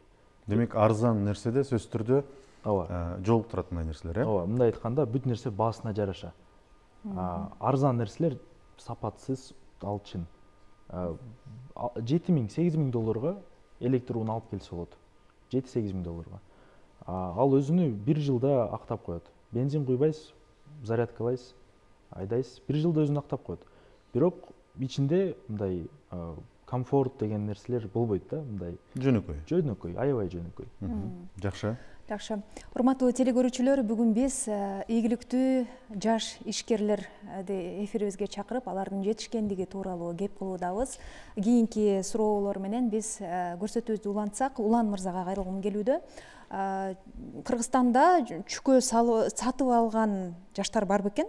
Демек арзан нерседе сөзсүз түрдө жолуктурат мындай нерселер, э? Ооба, мындай айтканда бүт нерсе баасына жараша. Арзан нерселер сапатсыз, ал чын. 7,000-8,000 долларга электр уна алып келсе болот. 7-8 миң долларга. Ал өзүнү бир жылда актап коет. Бензин куйбайсыз, зарядкалайсыз, айдайсыз, бир жылда өзүнү актап коет. Бирок ичинде мындай комфорт деген нерселер болбойт да, мындай жөнөкөй, аябай жөнөкөй. Жакшы. Жакшы. Урматтуу телекөрүүчүлөр, бүгүн биз ийгиликтүү жаш ишкерлерди эфирибизге чакырып, алардын жетишкендиги тууралуу кеп кылуудабыз. Кийинки суроолор менен биз көрсөтүүбүздү улантсак, Улан мырзага кайрылгым келүүдө. Кыргызстанда чүкө сатып алган жаштар бар бекен?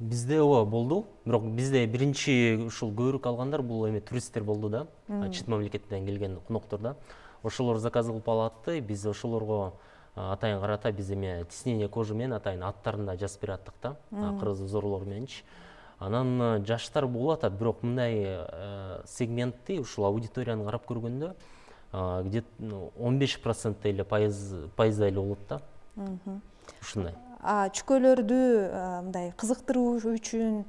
Бизде ооба болду, бирок бизде биринчи ушул көбүрөөк алгандар бул эми туристтер болду да, чет мамлекеттен келген коноктор да. Ошолор заказ кылып алатты, биз ошолорго атайын карата биз эми тиснение кожи менен атайын аттарында жазып берип аттык да, кыргыз узорлор мененчи. Анан жаштар болуп атат, бирок мындай сегментти ушул аудиторияны карап көргөндө где-то 15% эле пайызда эле болот да. Ушундай. Чүкөлөрдү мындай кызыктыруу үчүн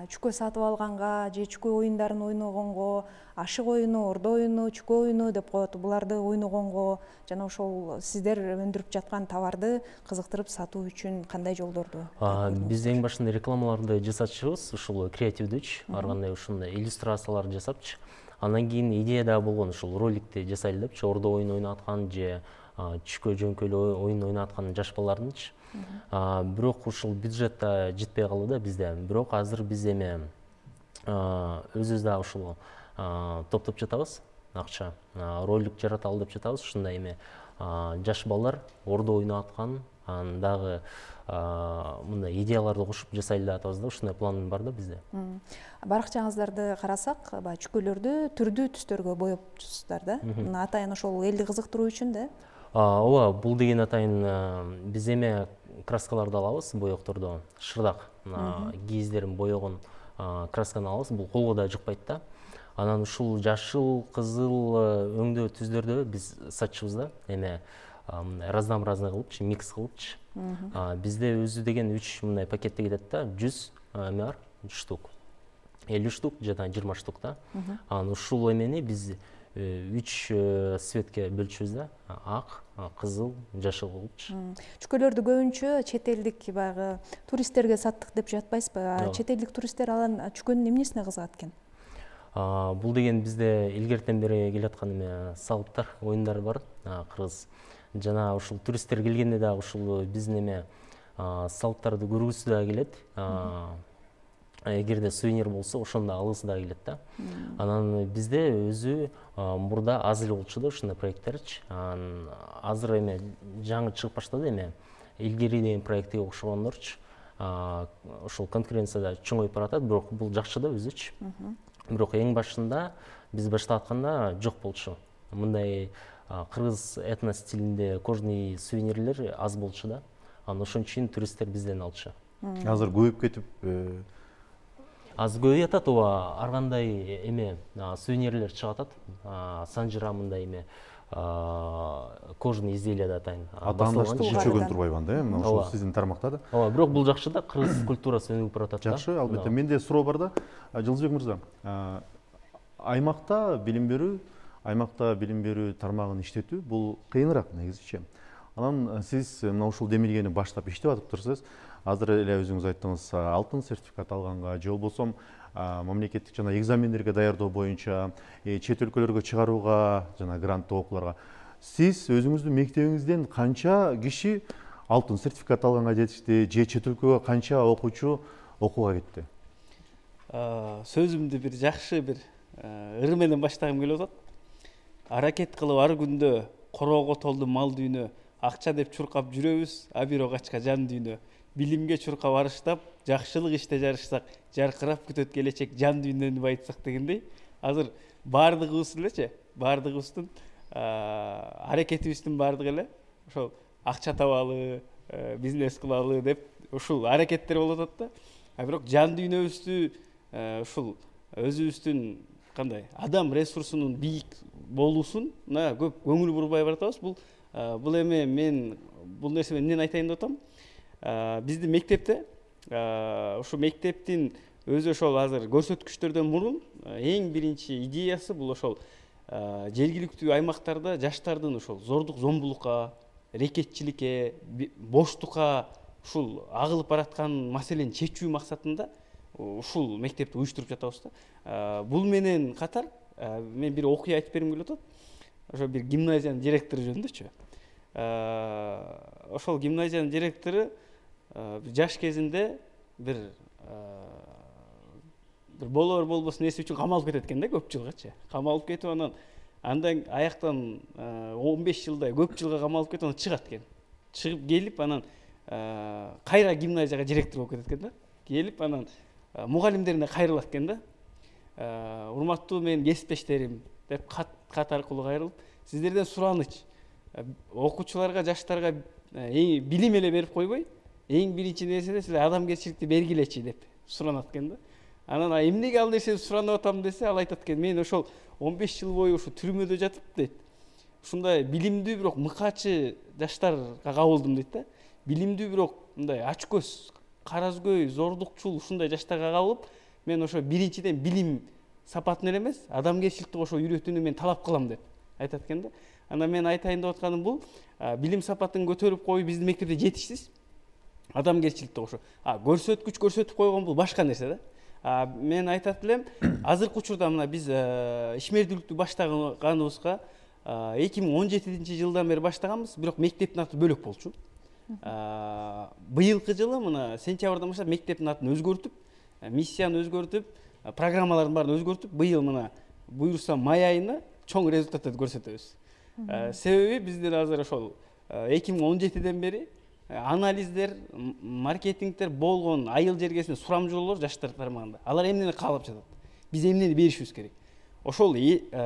чүкө сатып алганга же чүкө оюндарын ойногонго, ашык оюну, ордо оюну, чүкө оюну деп коет. Буларды ойногонго жана ошол сиздер өндүрүп жаткан товарды кызыктырып сатуу үчүн кандай жолдорду? Биз эң башында рекламаларды жасатчыбыз, ушул креативдүүчү, ар кандай ушундай иллюстрациялар жасапчы. Андан кийин идея да болгон, ушул роликти жасайлы депчи, ордо оюн ойнаткан же чүкө жөңкөлүү оюн ойнаткан жаш балардынчы. Бирок ушул бюджет да жетпей калды да бизде. Бирок азыр биз эми өзүбүз да ушул топтоп жатабыз, акча, ролик жараталы деп жатабыз. Ушундай эми жаш балдар ордо ойнаткан, анан дагы мындай идеяларды кошуп жасайлы деп атабыз да, ушундай план бар да бизде. Баракчаңыздарды карасак, чүкөлөрдү түрдүү түстөргө боепсуздар да. Атайын ошол элди кызыктыруу үчүн да. Ооба, бул деген атайын биз эми краскаларды алабыз, боекторду, шырдак, кийиздерин боегон красканы алабыз, бул колго да жукпайт да. Анан ушул жашыл, кызыл өңдөө түздөрдү биз сатчыбыз да, эми разнообразный кылыпчы, микс кылыпчы. Бизде өзү деген 3 мындай пакетте кетет да, 100 эме бар, штук. 50 штук жана 20 штук да. Анан ушул эмени биз 3 цветке бөлчүбүз да. Ак, кызыл, жашыл болчу. Чүкөлөрдү көбүнчө чет элдик баягы туристтерге саттык деп жатпайсызбы? Чет элдик туристтер алан чүкөнүн эмнесине кызыгат экен? Бул деген бизде илгертен бери келаткан эме салыптар, оюндар бар. Кыргыз жана ушул туристтер келгенде дагы ушул биздин эме салыптарды көргүсү да келет. Эгерде сувенир болсо, ошондо алгысы да келет да. Анан бизде өзү мурда аз эле болчу да ушундай проекттерчи. Азыр эме жаңы чыгып баштады эме. Илгери деген проектке окшогондорчу. Ошол конкуренцияда чоңоюп баратат, бирок бул жакшы да өзүчү. Бирок эң башында биз баштап атканда жок болчу. Мындай кыргыз этно стилинде кожный сувенирлер аз болчу да. Анан ошон үчүн туристтер бизден алчу. Азыр көбөйүп кетип Аз көбөйүп атат, ооба, ар кандай эме сувенирлер чыгып атат. Санжыра мындай эме кожный изделия да атайын. Атаандашты чечөгөн турбайбы анда, мына ошол сиздин тармакта да. Ооба, бирок бул жакшы да, кыргыз культурасы өнүгүп баратат да. Жакшы, албетте. Менде суроо бар да. Жылдызбек мырза, аймакта билим берүү тармагын иштетүү бул кыйыныраак негизичи. Анан сиз мына ушул демилгени баштап иштеп атып турсуз. Азыр эле өзүңүз айттыңыз, алтын сертификат алганга же болбосо мамлекеттик жана экзамендерге даярдоо боюнча, чет өлкөлөргө чыгарууга жана гранттуу окууларга. Сиз өзүңүздүн мектебиңизден канча киши алтын сертификат алганга жетишти, же чет өлкөгө канча окуучу окууга кетти? Сөзүмдү бир жакшы бир ыр менен баштагым келип атат. Аракет кылып ар күндө короого толду мал дүйнө, акча деп чуркап жүрөбүз, а бирок ачка жан дүйнө. Билимге чуркап арыштап, жакшылык иште жарышсак, жаркырап күтөт келечек жан дүйнөнү байытсак дегендей. Азыр баардыгыбыз элечи, баардыгыбыздын аракетибиздин баардыгы эле ошол акча табалы, бизнес кылалы деп ушул аракеттер болуп атат да. Бирок жан дүйнөбүздү ушул өзүбүздүн кандай адам ресурсунун бийик болуусуна көп көңүл бурбай баратабыз. Бул эме мен бул нерсени эмнен айтайын деп атам? Биздин мектепте ушу мектептин өзү ошол азыр көрсөткүчтөрдөн мурун эң биринчи идеясы бул ошол жергиликтүү аймактарда жаштардын ошол зордук зомбулукка, рекетчиликке, боштукка ушул агылып бараткан маселени чечүү максатында ушул мектепти уюштуруп жатабыз да. Бул менен катар мен бир окуя айтып бергим келип атат. Ошо бир гимназиянын директору жөнүндөчү. Ошол гимназиянын директору жаш кезинде бир болор болбос нерсе үчүн камалып кетет экен да, көп жылгачы. Камалып кетип андан аяктан 15 жылдай көп жылга камалып кетип анан чыгат экен. Чыгып келип анан кайра гимназияга директор болуп кетет экен да. Келип анан мугалимдерине кайрылат экен да. Урматтуу менин кесиптештерим деп кат аркылуу кайрылып, сиздерден сураныч. Окуучуларга, жаштарга билим эле берип койбой, эң биринчи нерсе силер адамгерчиликти бергилечи деп суранат экен да. Анан эмнеге ал нерсени суранып атам десе, ал айтат экен, мен ошол 15 жыл бою ушу түрмөдө жатып дейт. Ушундай билимдүү бирок мыкаачы жаштарга кабылдым дейт да. Билимдүү бирок мындай ачкөз, каразгөй, зордукчул ушундай жаштарга кабылып, мен ошо биринчиден билим сапатын эле эмес, адамгерчиликти ошо үйрөтүүнү мен талап кылам деп айтат экен да. Анан мен айтайын деп атканым бул, билим сапатын көтөрүп коюу биздин мектепте жетишсиз. Адамгерчиликти ошо көрсөткүч көрсөтүп койгон бул башка нерсе да. Мен айтат элем, азыркы учурда мына биз ишмердүүлүктү баштаганыбызга 2017-жылдан бери баштаганбыз, бирок мектептин аты бөлөк болчу. Быйылкы жылы мына сентябрдан баштап мектептин атын өзгөртүп, миссияны өзгөртүп, программалардын баарын өзгөртүп, быйыл мына буюрса май айына чоң результаттарды көрсөтөбүз. Себеби биздин азыр ошол 2017-ден бери анализдер, маркетингдер болгон айыл жергесинде сурамжылоолор жаштар тармагында. Алар эмнени каалап жатат? Биз эмнени беришибиз керек? Ошол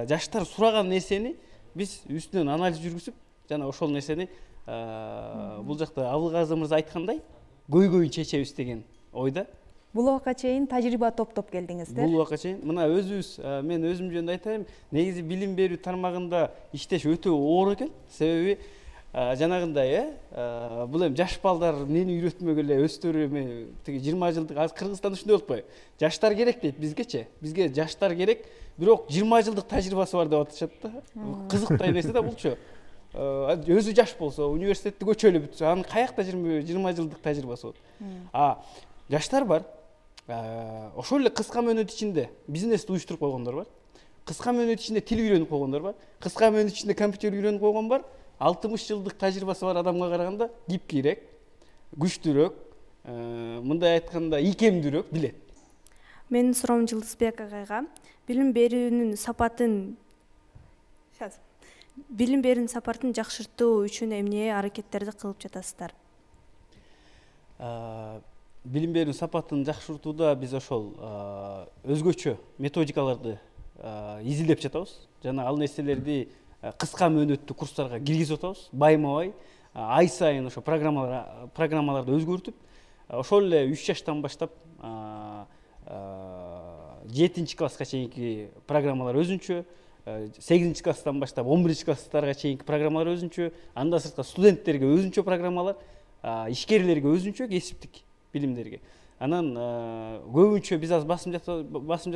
жаштар сураган нерсени биз үстүнөн анализ жүргүзүп, жана ошол нерсени бул жакта Абылгазы мырза айткандай, көйгөйүн чечебиз деген ойда. Бул убакка чейин тажрыйба топтоп келдиңиздер. Бул убакка чейин мына өзүбүз, мен өзүм жөнүндө айтайын, негизи билим берүү тармагында иштеш өтө оор экен. Себеби жанагындай бул эми жаш балдар эмнени үйрөтмөк эле өздөрү эми тиги 20 жылдык азыр Кыргызстанда ушундай болуп атпайбы? Жаштар керек дейт бизгечи. Бизге жаштар керек, бирок 20 жылдык тажрыйбасы бар деп атышат да. Кызыктай нерсе да булчу. Өзү жаш болсо, университетти көчөлү бүтсө, анын каякта 20 жылдык тажрыйбасы болот. Жаштар бар. Ошол эле кыска мөөнөт ичинде бизнести уюштуруп койгондор бар. Кыска мөөнөт ичинде тил үйрөнүп койгондор бар. Кыска мөөнөт ичинде компьютер үйрөнүп койгон бар. 60 жылдык тажрыйбасы бар адамга караганда гибкийирээк, күчтүүрөөк, мындай айтканда ийкемдүүрөөк билет. Менин суроом Жылдызбек агайга. Билим берүүнүн сапатын жакшыртуу үчүн эмне аракеттерди кылып жатасыздар? Билим берүүнүн сапатын жакшыртууда биз ошол өзгөчө методикаларды изилдеп жатабыз. Жана ал нерселерди кыска мөөнөттүү курстарга киргизип атабыз. Байма-бай ай сайын ошо программаларды өзгөртүп, ошол эле 3 жаштан баштап 7-класска чейинки программалар өзүнчө, 8-класстан баштап 11-класстарга чейинки программалар өзүнчө, андан сырткары студенттерге өзүнчө программалар, ишкерлерге өзүнчө кесиптик билимдерге. Анан көбүнчө биз азыр басым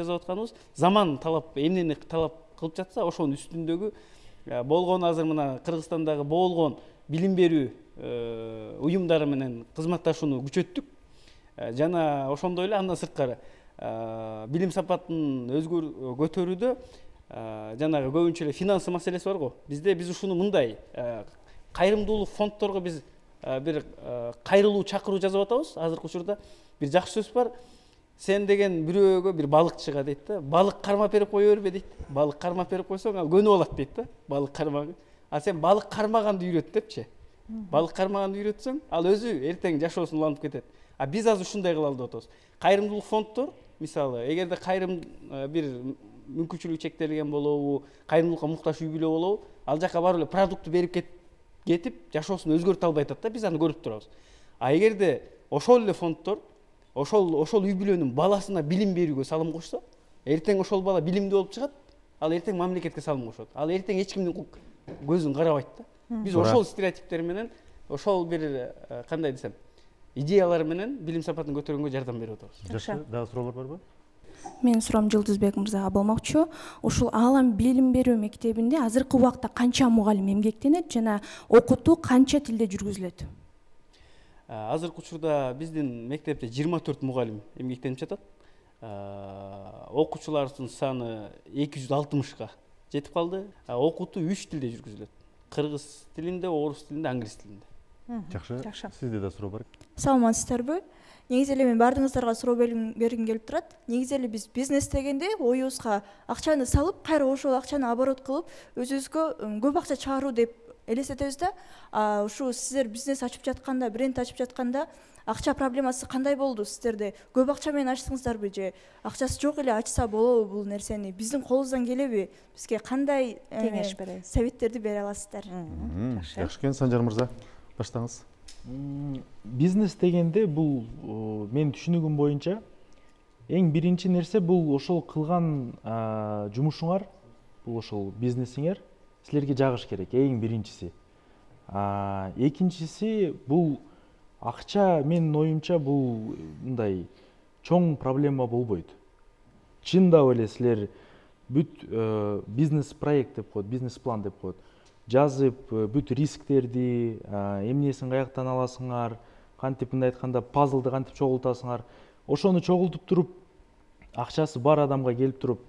жазып атканыбыз заман талап, эмнени талап кылып жатса, ошонун үстүндөгү болгон азыр мына Кыргызстандагы болгон билим берүү уюмдары менен кызматташууну күчөттүк. Жана ошондой эле андан сырткары билим сапатын көтөрүүдө жанагы көбүнчө эле финансы маселеси бар го. Биз ушуну мындай кайрымдуулук фондторго биз бир кайрылуу чакыруу жазып атабыз. Азыркы учурда бир жакшы сөз бар. Сен деген бирөөгө бир балыкчыга дейт да, балык кармап берип кое бербе дейт. Балык кармап берип койсоң, ал көнүп алат дейт да, балык кармагы. А сен балык кармаганды үйрөт депчи. Балык кармаганды үйрөтсөң, ал өзү эртең жашоосун улантып кетет. А биз азыр ушундай кылалы деп атабыз. Кайрымдуулук фонддор, мисалы, эгерде кайрым бир мүмкүнчүлүгү чектелген болобу, кайрымдуулукка муктаж үй бүлө болобу, ал жака барып эле продукту берип кетип, жашоосун өзгөртө албай атат да, биз аны көрүп турабыз. А эгерде ошол эле фонддор ошол үй бүлөнүн баласына билим берүүгө салым кошсо, эртең ошол бала билимдүү болуп чыгат, ал эртең мамлекетке салым кошот. Ал эртең эч кимдин көзүн карабайт да. Биз ошол стереотиптер менен, ошол бир кандай десем, идеялар менен билим сапатын көтөргөнгө жардам берип атабыз. Жакшы, дагы суроолор барбы? Менин суроом Жылдызбек мырзага болмокчу. Ушул Аалам билим берүү мектебинде азыркы убакта канча мугалим эмгектенет жана окутуу канча тилде жүргүзүлөт? Азыркы учурда биздин мектепте 24 мугалим эмгектенип жатат. Окуучулардын саны 260га жетип калды. Окутуу 3 тилде жүргүзүлөт. Кыргыз тилинде, орус тилинде, англис тилинде. Жакшы. Сизде да суроо бар. Саламатсыздарбы? Негизи эле мен баардыгыңыздарга суроо бергим келип турат. Негизи эле биз бизнес дегенде оюбузга акчаны салып, кайра ошол акчаны оборот кылып, өзүбүзгө көп акча чыгаруу деп элестетебиз да. Ушу сиздер бизнес ачып жатканда, бренд ачып жатканда акча проблемасы кандай болду сиздерде? Көп акча менен ачтыңыздарбы же акчасы жок эле ачса болобу бул нерсени? Биздин колубуздан келеби? Бизге кандай кеңеш бересиз? Советтерди бере аласыздар? Жакшы экен, Санжар мырза, баштаңыз. Бизнес дегенде бул менин түшүнүгүм боюнча эң биринчи нерсе бул ошол кылган жумушуңар, бул ошол бизнесиңер силерге жагыш керек, эң биринчиси. Экинчиси бул акча, менин оюмча бул мындай чоң проблема болбойт. Чындап эле силер бүт бизнес проект деп коет, бизнес план деп коет. Жазып, бүт рисктерди, эмнесин каяктан аласыңар, кантип мындай айтканда пазлды кантип чогултасыңар, ошону чогултуп туруп, акчасы бар адамга келип туруп,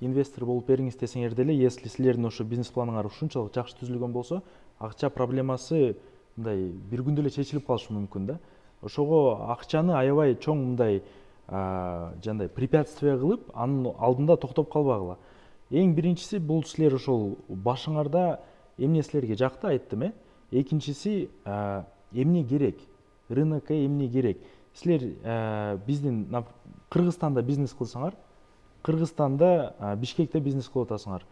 инвестор болуп бериңиз десеңер деле, если силердин ошо бизнес планыңар ушунчалык жакшы түзүлгөн болсо, акча проблемасы мындай бир күндө эле чечилип калышы мүмкүн да. Ошого акчаны аябай чоң мындай жандай препятствие кылып, анын алдында токтоп калбагыла. Эң биринчиси бул силер ошол башыңарда эмне силерге жакты айттым, экинчиси эмне керек, рынокко эмне керек. Силер биздин Кыргызстанда бизнес кылсаңар, Кыргызстанда Бишкекте бизнес кылып атасыңар.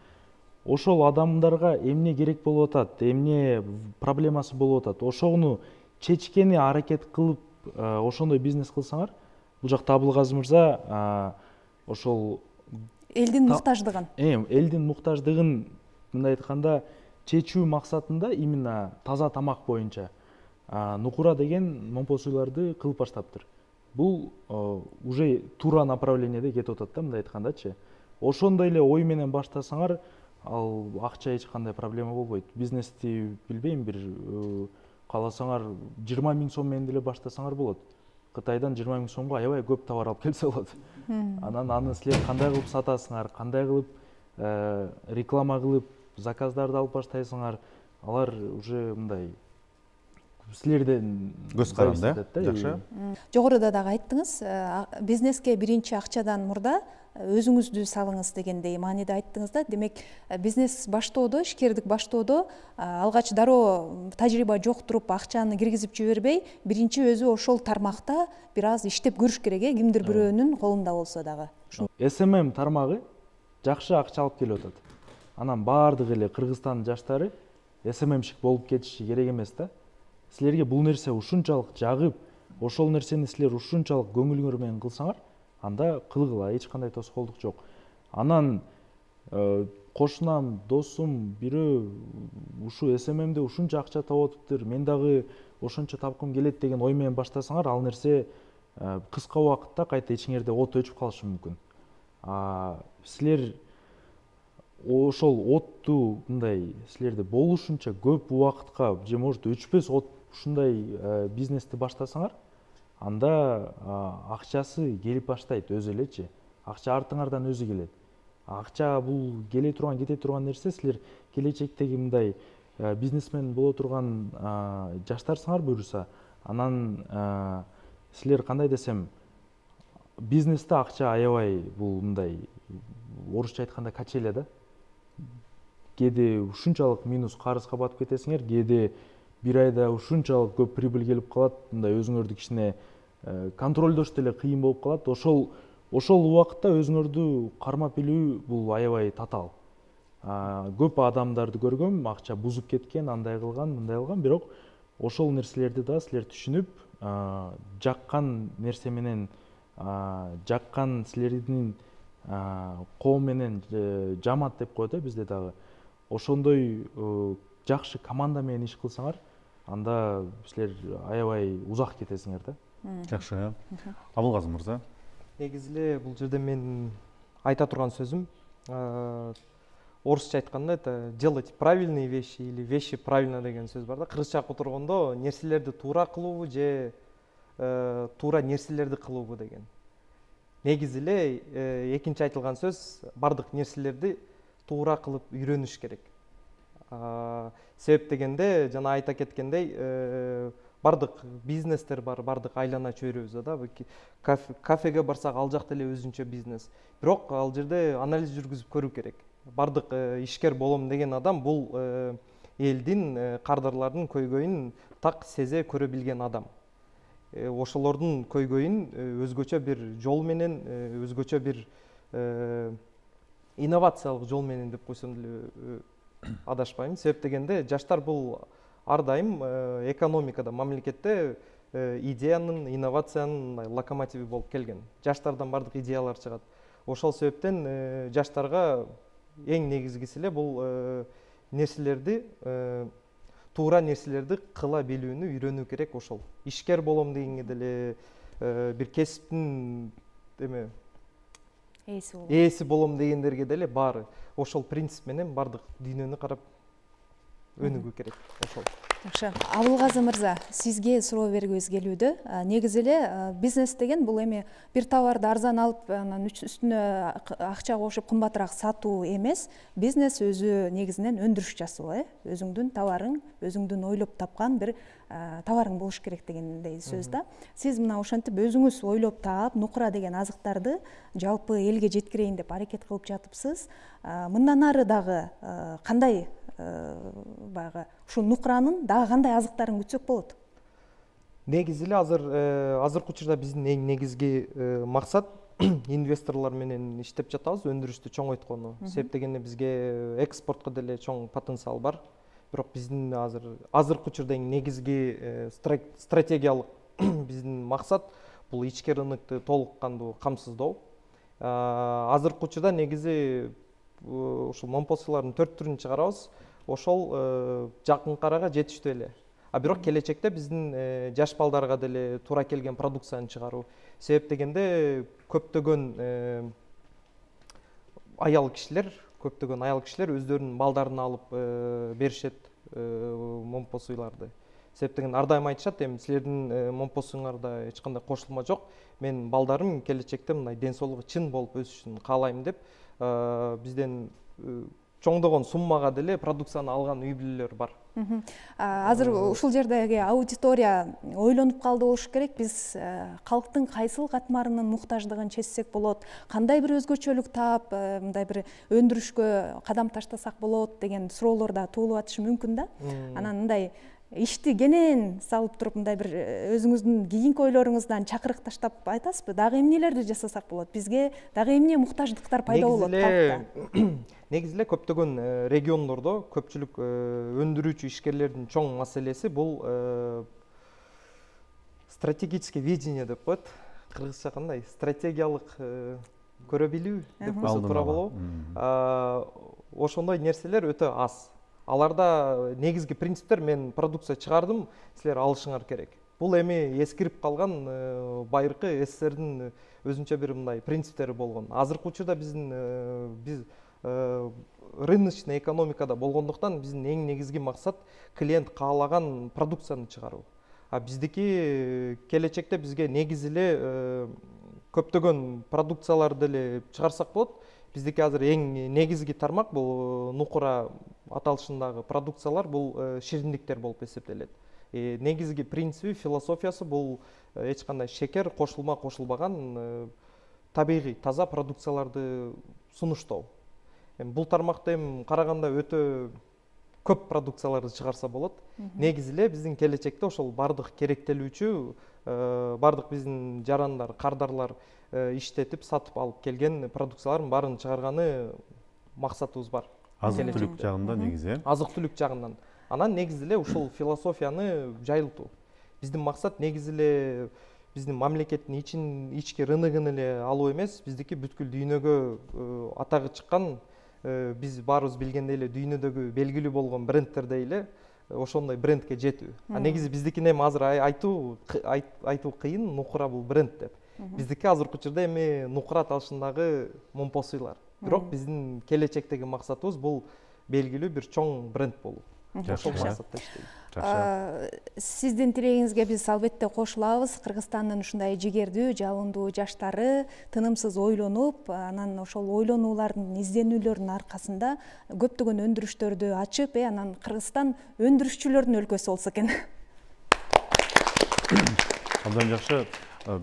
Ошол адамдарга эмне керек болуп атат, эмне проблемасы болуп атат, ошону чечкени аракет кылып, ошондой бизнес кылсаңар, бул жакта Абылгазы мырза ошол элдин муктаждыгын. Элдин муктаждыгын мындай айтканда чечүү максатында именно таза тамак боюнча нукура деген момпосуйларды кылып баштаптыр. Бул уже туура направлениеде кетип атат да, мындай айткандачы. Ошондой эле ой менен баштасаңар, ал акча эч кандай проблема болбойт. Бизнести билбейм, бир кааласаңар 20 000 сом менен деле баштасаңар болот. Кытайдан 20 000 сомго аябай көп товар алып келсе болот. Анан аны силер кандай кылып сатасыңар, кандай кылып реклама кылып заказдарды алып баштайсыңар, алар уже мындай силерден көз каранды, жакшы. Жогоруда дагы айттыңыз, бизнеске биринчи акчадан мурда өзүңүздү салыңыз дегендей мааниде айттыңыз да. Демек, бизнес баштоодо, ишкердик баштоодо алгач дароо тажрыйба жок туруп акчаны киргизип жибербей, биринчи өзү ошол тармакта бир аз иштеп көрүш керек, кимдир бирөөнүн колунда болсо дагы. SMM тармагы жакшы акча алып келип атат. Анан баардык эле Кыргызстандын жаштары SMMщик болуп кетиши керек эмес да. Силерге бул нерсе ушунчалык жагып, ошол нерсени силер ушунчалык көңүлүңөр менен кылсаңар, анда кылгыла, эч кандай тоскоолдук жок. Анан кошунам, досум бирөө ушу SMMде ушунча акча таап атыптыр, мен дагы ошончо тапкым келет деген ой менен баштасаңар, ал нерсе кыска убакытта кайта ичиңерде от өчүп калышы мүмкүн. Силер ошол отту мындай силерде болушунча көп убакытка, же может 3-5 от ушундай бизнести баштасаңар, анда акчасы келип баштайт өзү элечи. Акча артыңардан өзү келет. Акча бул келе турган, кете турган нерсе. Силер келечектеги мындай бизнесмен боло турган жаштарсыңар буюрса, анан силер кандай десем, бизнесте акча аябай бул мындай орусча айтканда качеля да. Кээде ушунчалык минус карызга батып кетесиңер, кээде бир айда ушунчалык көп прибыль келип калат, мындай өзүңөрдү кичине контролдош деле кыйын болуп калат. Ошол убакытта өзүңөрдү кармап билүү бул аябай татаал. Көп адамдарды көргөм, акча бузуп кеткен, андай кылган, мындай кылган, бирок ошол нерселерди да силер түшүнүп, жаккан нерсе менен, жаккан силердин коом менен жамаат деп коет бизде дагы. Ошондой жакшы команда менен иш кылсаңар, анда силер аябай узак кетесиңер да. Жакшы. Абылгазы мырза. Негизи эле бул жерде мен айта турган сөзүм, орусча айтканда это делать правильные вещи или вещи правильно деген сөз бар да. Кыргызча которгондо нерселерди туура кылуубу же туура нерселерди кылуубу деген. Негизи эле экинчи айтылган сөз бардык нерселерди туура кылып үйрөнүш керек. Себеп дегенде жана айта кеткендей, бардык бизнестер бар, бардык айлана чөйрөбүздө да. Кафеге барсак ал жакта эле өзүнчө бизнес. Бирок ал жерде анализ жүргүзүп көрүү керек. Бардык ишкер болом деген адам бул элдин, кардарлардын көйгөйүн так сезе көрө билген адам. Ошолордун көйгөйүн өзгөчө бир жол менен, өзгөчө бир инновациялык жол менен деп койсом деле адашпайм. Себеп дегенде жаштар бул ар дайым экономикада, мамлекетте идеянын, инновациянын локомотиви болуп келген. Жаштардан бардык идеялар чыгат. Ошол себептен жаштарга эң негизгиси эле бул нерселерди, туура нерселерди кыла билүүнү үйрөнүү керек. Ошол ишкер болом дегенге деле, бир кесиптин ээси болом дегендерге деле баары ошол принцип менен бардык дүйнөнү карап өнүгүү керек. Ошол. Жакшы. Абылгазы мырза, сизге суроо бергибиз келүүдө. Негизи эле бизнес деген бул эми бир товарды арзан алып, анан үстүнө акча кошуп кымбатыраак сатуу эмес. Бизнес өзү негизинен өндүрүш жасоо, өзүңдүн товарың, өзүңдүн ойлоп тапкан бир товарың болуш керек дегендей сөз да. Сиз мына ошентип өзүңүз ойлоп таап, нукура деген азыктарды жалпы элге жеткирейин деп аракет кылып жатыпсыз. Мындан ары дагы кандай баягы ушу нукуранын дагы кандай азыктарын күтсөк болот? Негизи эле азыркы учурда биздин эң негизги максат инвесторлор менен иштеп жатабыз, өндүрүштү чоңойткону. Себеп дегенде бизге экспортко деле чоң потенциал бар. Бирок биздин азыркы учурда эң негизги стратегиялык биздин максат бул ички рынокты толук кандуу камсыздоо. Азыркы учурда негизи ушул момпосуйлардын 4 түрүн чыгарабыз. ошол жакынкы арага жетиштүү эле. А бирок келечекте биздин жаш балдарга деле туура келген продукцияны чыгаруу. Себеп дегенде көптөгөн аял кишилер өздөрүнүн балдарын алып беришет момпосуйларды. Себеп деген ар дайым айтышат, эми силердин момпосуңарда эч кандай кошулма жок. Мен балдарым келечекте мындай ден соолугу чын болуп өсүшүн каалайм деп бизден чоңдогон суммага деле продукцияны алган үй бүлөлөр бар. Азыр ушул жердеги аудитория ойлонуп калды болуш керек. Биз калктын кайсыл катмарынын муктаждыгын чечсек болот, кандай бир өзгөчөлүк таап, мындай бир өндүрүшкө кадам таштасак болот деген суроолор да туулуп атышы мүмкүн да. Анан мындай ишти кенен салып туруп мындай бир өзүңүздүн кийинки ойлоруңуздан чакырык таштап айтасызбы? Дагы эмнелерди жасасак болот? Бизге дагы эмне муктаждыктар пайда болот калкта? Негизи эле көптөгөн региондордо көпчүлүк өндүрүүчү ишкерлердин чоң маселеси бул стратегическое видение деп коет. Кыргызча кандай? Стратегиялык көрө билүү деп койсо туура болобу? Ошондой нерселер өтө аз. Аларда негизги принциптер: мен продукция чыгардым, силер алышыңар керек. Бул эми эскирип калган байыркы СССРдин өзүнчө бир мындай принциптери болгон. Азыркы учурда биз рыночный экономикада болгондуктан биздин эң негизги максат клиент каалаган продукцияны чыгаруу. А биздики келечекте бизге негизи эле көптөгөн продукцияларды эле чыгарсак болот. Биздики азыр эң негизги тармак бул нукура аталышындагы продукциялар, бул шириндиктер болуп эсептелет. Негизги принципи, философиясы бул эч кандай шекер кошулбаган табигый таза продукцияларды сунуштоо. Бул тармакта эми караганда өтө көп продукцияларды чыгарса болот. Негизи эле биздин келечекте ошол бардык керектелүүчү, бардык биздин жарандар, кардарлар иштетип, сатып алып келген продукциялардын баарын чыгарганы максатыбыз бар. Азык-түлүк жагында негизи. Азык-түлүк жагынан. Анан негизи эле ушул философияны жайылтуу. Биздин максат негизи эле биздин мамлекеттин ички рыногун эле алуу эмес, биздики бүткүл дүйнөгө атагы чыккан, биз баарыбыз билгендей эле дүйнөдөгү белгилүү болгон брендтердей эле ошондой брендке жетүү. Негизи биздикин эми азыр айтуу кыйын, нукура бул бренд деп. Биздики азыркы учурда эми нукура аталышындагы момпосуйлар. Бирок биздин келечектеги максатыбыз бул белгилүү бир чоң бренд болуу. Ошол максатта иштейм. Сиздин тилегиңизге биз албетте кошулабыз. Кыргызстандын ушундай жигердүү, жалындуу жаштары тынымсыз ойлонуп, анан ошол ойлонуулардын, изденүүлөрдүн аркасында көптөгөн өндүрүштөрдү ачып, анан Кыргызстан өндүрүшчүлөрдүн өлкөсү болсо экен. Абдан жакшы.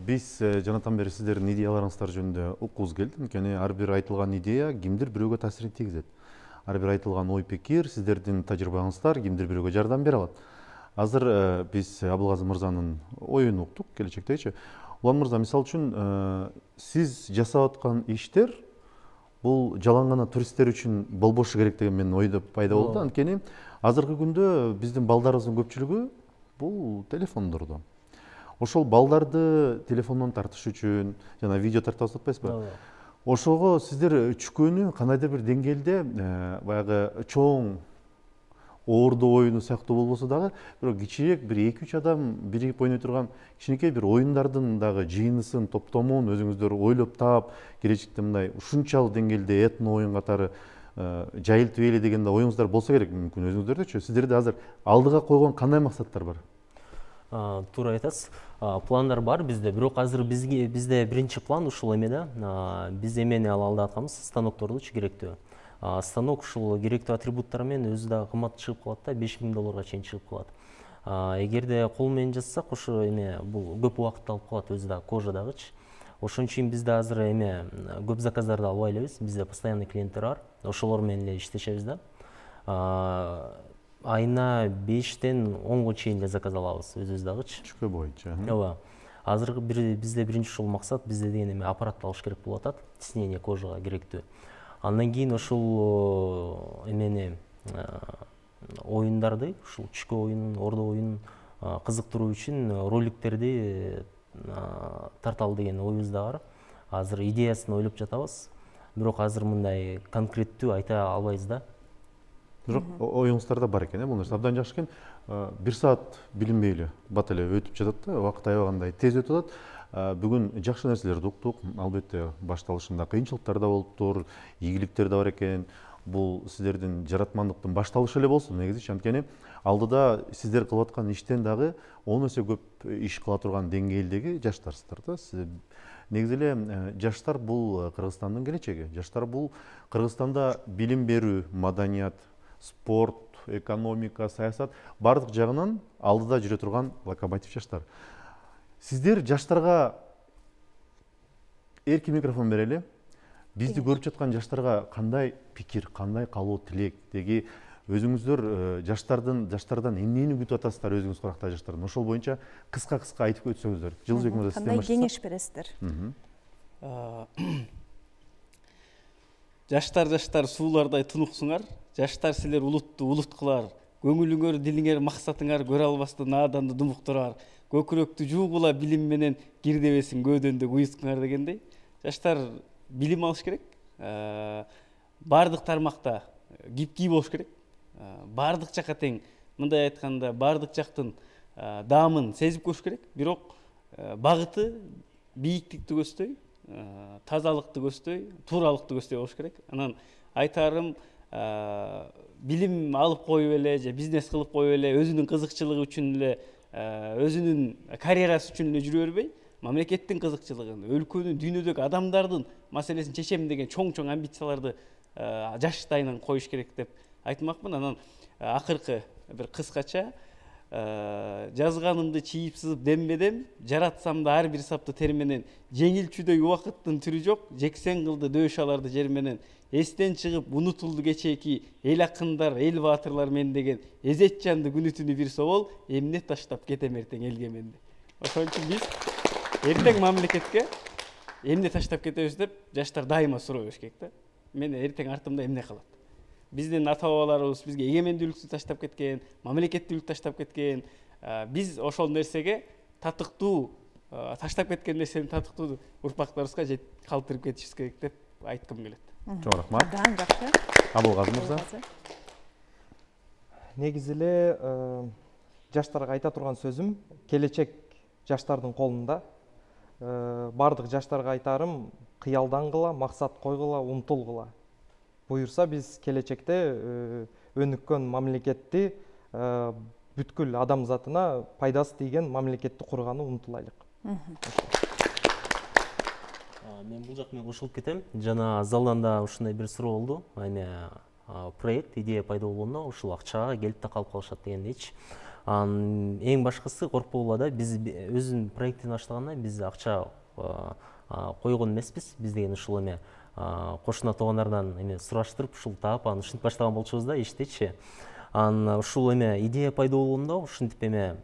Биз жанатан бери сиздердин идеяларыңыздар жөнүндө уккубуз келди. Анткени ар бир айтылган идея кимдир бирөөгө таасирин тийгизет. Ар бир айтылган ой пикир, сиздердин тажрыйбаңыздар кимдир бирөөгө жардам бере алат. Азыр биз Абылгазы мырзанын оюн уктук келечектегичи. Улан мырза, мисалы үчүн сиз жасап аткан иштер бул жалаң гана туристтер үчүн болбошу керек деген менин ойдо пайда болду. Анткени азыркы күндө биздин балдарыбыздын көпчүлүгү бул телефондордо. Ошол балдарды телефондон тартыш үчүн жана видео тартып атпайсызбы? Ошого сиздер чүкөнү кандайдыр бир деңгээлде баягы чоң оордоо оюну сыяктуу болбосо дагы бирок кичирээк бир 2-3 адам биригип ойной турган кичинекей бир оюндардын дагы жыйынысын, топтомун өзүңүздөр ойлоп таап, келечекте мындай ушунчалык деңгээлде этно оюн катары жайылтып эле деген да оюңуздар болсо керек. Мүмкүн өзүңүздөрдөчү. Сиздерде азыр алдыга койгон кандай максаттар бар? Туура айтасыз. Пландар бар бизде, бирок азыр бизде биринчи план ушул эме да. Биз эмени алды атканбыз, станоктордучу керектүү. Станок ушул керектүү атрибуттары менен өзү да кымбат чыгып калат да, $5000 чейин чыгып калат. Эгерде кол менен жазсак, ошо эме бул көп убакытты алып калат, өзү да кожадагычы. Ошон үчүн бизде азыр эме көп заказдарды албай элебиз. Бизде постоянный клиенттер бар. Ошолор менен эле иштешебиз да. Айына 5-тен 10-го чейин эле заказ алабыз өзүбүз дагычы. Чүкө боюнча. Ооба. Азыр бизде биринчи ушул максат, бизде деген эме аппаратты алыш керек болуп атат, тиснение кожага керектүү. Андан кийин ушул эмени оюндарды, ушул чүкө оюнун, ордо оюнун кызыктыруу үчүн роликтерди тарталы деген оюбуз да бар. Азыр идеясын ойлоп жатабыз. Бирок азыр мындай конкреттүү айта албайбыз да. бирок оюңуздарда бар экен, бул нерсе абдан жакшы экен. 1 саат билинбей бат эле өтүп жатат да, убакыт аябагандай тез өтүп атат. Бүгүн жакшы нерселерди уктук. Албетте башталышында кыйынчылыктар да болуптур, ийгиликтер да бар экен. Бул сиздердин жаратмандыктын башталышы эле болсун негизи, анткени алдыда сиздер кылып аткан иштен дагы 10 эсе көп иш кыла турган деңгээлдеги жаштарсыздар да. Негизи эле жаштар бул Кыргызстандын келечеги. Жаштар бул Кыргызстанда билим берүү, маданият, спорт, экономика, саясат бардык жагынан алдыда жүрө турган локомотив жаштар. Сиздер жаштарга эркин микрофон берели. Бизди көрүп жаткан жаштарга кандай пикир, кандай каалоо, тилек деги өзүңүздөр жаштардан эмнени күтүп атасыздар, өзүңүз куракта жаштардан? Ошол боюнча кыска айтып өтсөңүздөр. Жылдызбек мырза, сизден баштасак. Кандай кеңеш бересиздер? Жаштар суулардай тунуксуңар. Жаштар силер улутту улут кылар. Көңүлүңөр, дилиңер, максатыңар көрө албастан нааданды думуктурар. Көкүрөктү жуугула билим менен кирдебесин көөдөндө уюткуңар дегендей. Жаштар билим алыш керек. Бардык тармакта кипкий болуш керек. Бардык жакка тең, мындай айтканда, бардык жактын даамын сезип көрүш керек. Бирок багыты бийиктикти көздөй, тазалыкты көздөй, тууралыкты көздөй болуш керек. Анан айтарым, билим алып коюп эле же бизнес кылып коюп эле, өзүнүн кызыкчылыгы үчүн эле, өзүнүн карьерасы үчүн эле жүрө бербей, мамлекеттин кызыкчылыгын, өлкөнүн, дүйнөдөгү адамдардын маселесин чечем деген чоң амбицияларды жаштайынан коюш керек деп айтмакмын. Анан акыркы бир кыскача жазганымды чийип сызып дембедем, жаратсам да ар бир сапты тер менен, жеңилчүдөй убакыттын түрү жок, жексен кылды дөш аларды жер менен, эстен чыгып унутулду кечээки эл акындар, эл баатырлар мен деген, эзет жанды күнү түнү бир собол, эмне таштап кетем эртең элге менди. Ошон үчүн биз эртең мамлекетке эмне таштап кетебиз деп жаштар дайыма суроо бериш керек да. Мен эртең артымда эмне калат? Биздин ата бабаларыбыз бизге эгемендүүлүктү таштап кеткен, мамлекеттүүлүктү таштап кеткен. Биз ошол нерсеге татыктуу, таштап кеткен нерсени татыктуу урпактарыбызга калтырып кетишибиз керек деп айткым келет. Чоң рахмат. Абдан жакшы. Абылгазы мырза. Негизи эле жаштарга айта турган сөзүм, келечек жаштардын колунда. Бардык жаштарга айтарым, кыялдангыла, максат койгула, умтулгула. Буюрса биз келечекте өнүккөн мамлекетти, бүткүл адамзатына пайдасы тийген мамлекетти курганы умтулайлык. Мен бул жак менен кошулуп кетем. Жана залдан да ушундай бир суроо болду. Проект, идея пайда болгондо ушул акчага келип да калып калышат дегендейчи. Эң башкысы коркпогула да, биз өзүнүн проектин баштаганда биз акча койгон эмеспиз. Биз деген ушул эме кошуна туугандардан эме сураштырып, ушул таап, анан ушинтип баштаган болчубуз да иштечи. Ушул эме идея пайда болгондо ушинтип эме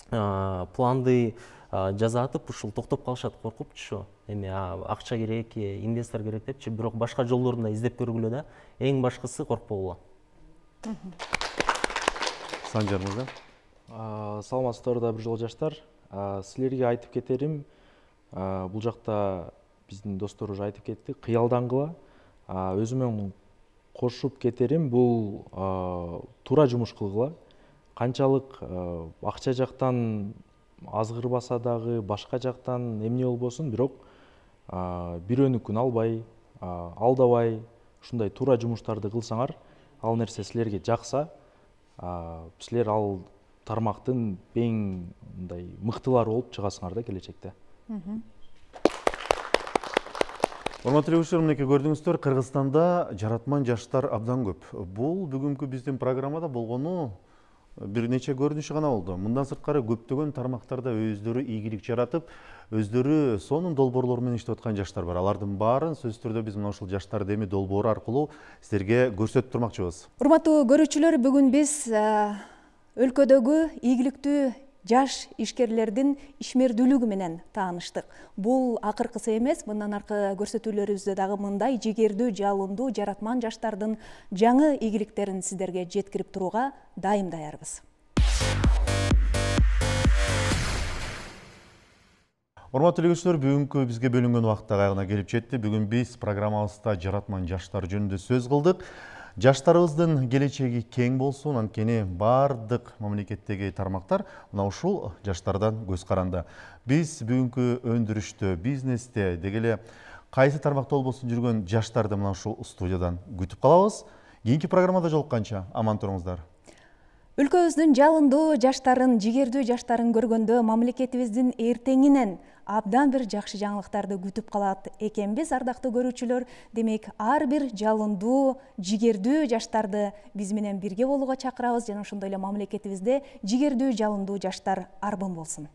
планды жазатып, ушул токтоп калышат коркупчу. Эме акча керек, инвестор керек депчи, бирок башка жолдорун да издеп көргүлө да. Эң башкысы коркпогула. Санжар мырза. Саламатсыздарбы да бир жолу жаштар. Силерге айтып кетерим, бул жакта биздин достор уже айтып кетти, кыялдангыла. Өзүмөн кошуп кетерим, бул туура жумуш кылгыла. Канчалык акча жактан азгырбаса дагы, башка жактан эмне болбосун, бирок бирөөнүкүн албай, алдабай, ушундай туура жумуштарды кылсаңар, ал нерсе силерге жакса, силер ал тармактын эң мындай мыктылары болуп чыгасыңар да келечекте. Урматтуу эле мынекей көрдүңүздөр, Кыргызстанда жаратман жаштар абдан көп. Бул бүгүнкү биздин программада болгону бир нече көрүнүшү гана болду. Мындан сырткары көптөгөн тармактарда өздөрү ийгилик жаратып, өздөрү сонун долбоорлор менен иштеп аткан жаштар бар. Алардын баарын сөзсүз түрдө биз мына ушул жаштар деми долбоору аркылуу сиздерге көрсөтүп турмакчыбыз. Урматтуу көрүүчүлөр, бүгүн биз өлкөдөгү ийгиликтүү жаш ишкерлердин ишмердүүлүгү менен тааныштык. Бул акыркысы эмес, мындан аркы көрсөтүүлөрүбүздө дагы мындай жигердүү, жалындуу жаратман жаштардын жаңы ийгиликтерин сиздерге жеткирип турууга дайым даярбыз. Урматтуу көрүүчүлөр, бүгүнкү бизге бөлүнгөн убакыт аягына келип жетти. Бүгүн биз программабызда жаратман жаштар жөнүндө сөз кылдык. Жаштарыбыздын келечеги кең болсун, анткени бардык мамлекеттеги тармактар мына ушул жаштардан көз каранды. Биз бүгүнкү өндүрүштө, бизнесте, деги эле кайсы тармакта болбосун жүргөн жаштарды мына ушул студиядан күтүп калабыз. Кийинки программада жолукканча аман туруңуздар. Өлкөбүздүн жалындуу жаштарын, жигердүү жаштарын көргөндө мамлекетибиздин эртеңинен абдан бир жакшы жаңылыктарды күтүп калат экенбиз, ардактуу көрүүчүлөр. Демек, ар бир жалындуу, жигердүү жаштарды биз менен бирге болууга чакырабыз жана ошондой эле мамлекетибизде жигердүү, жалындуу жаштар арбын болсун.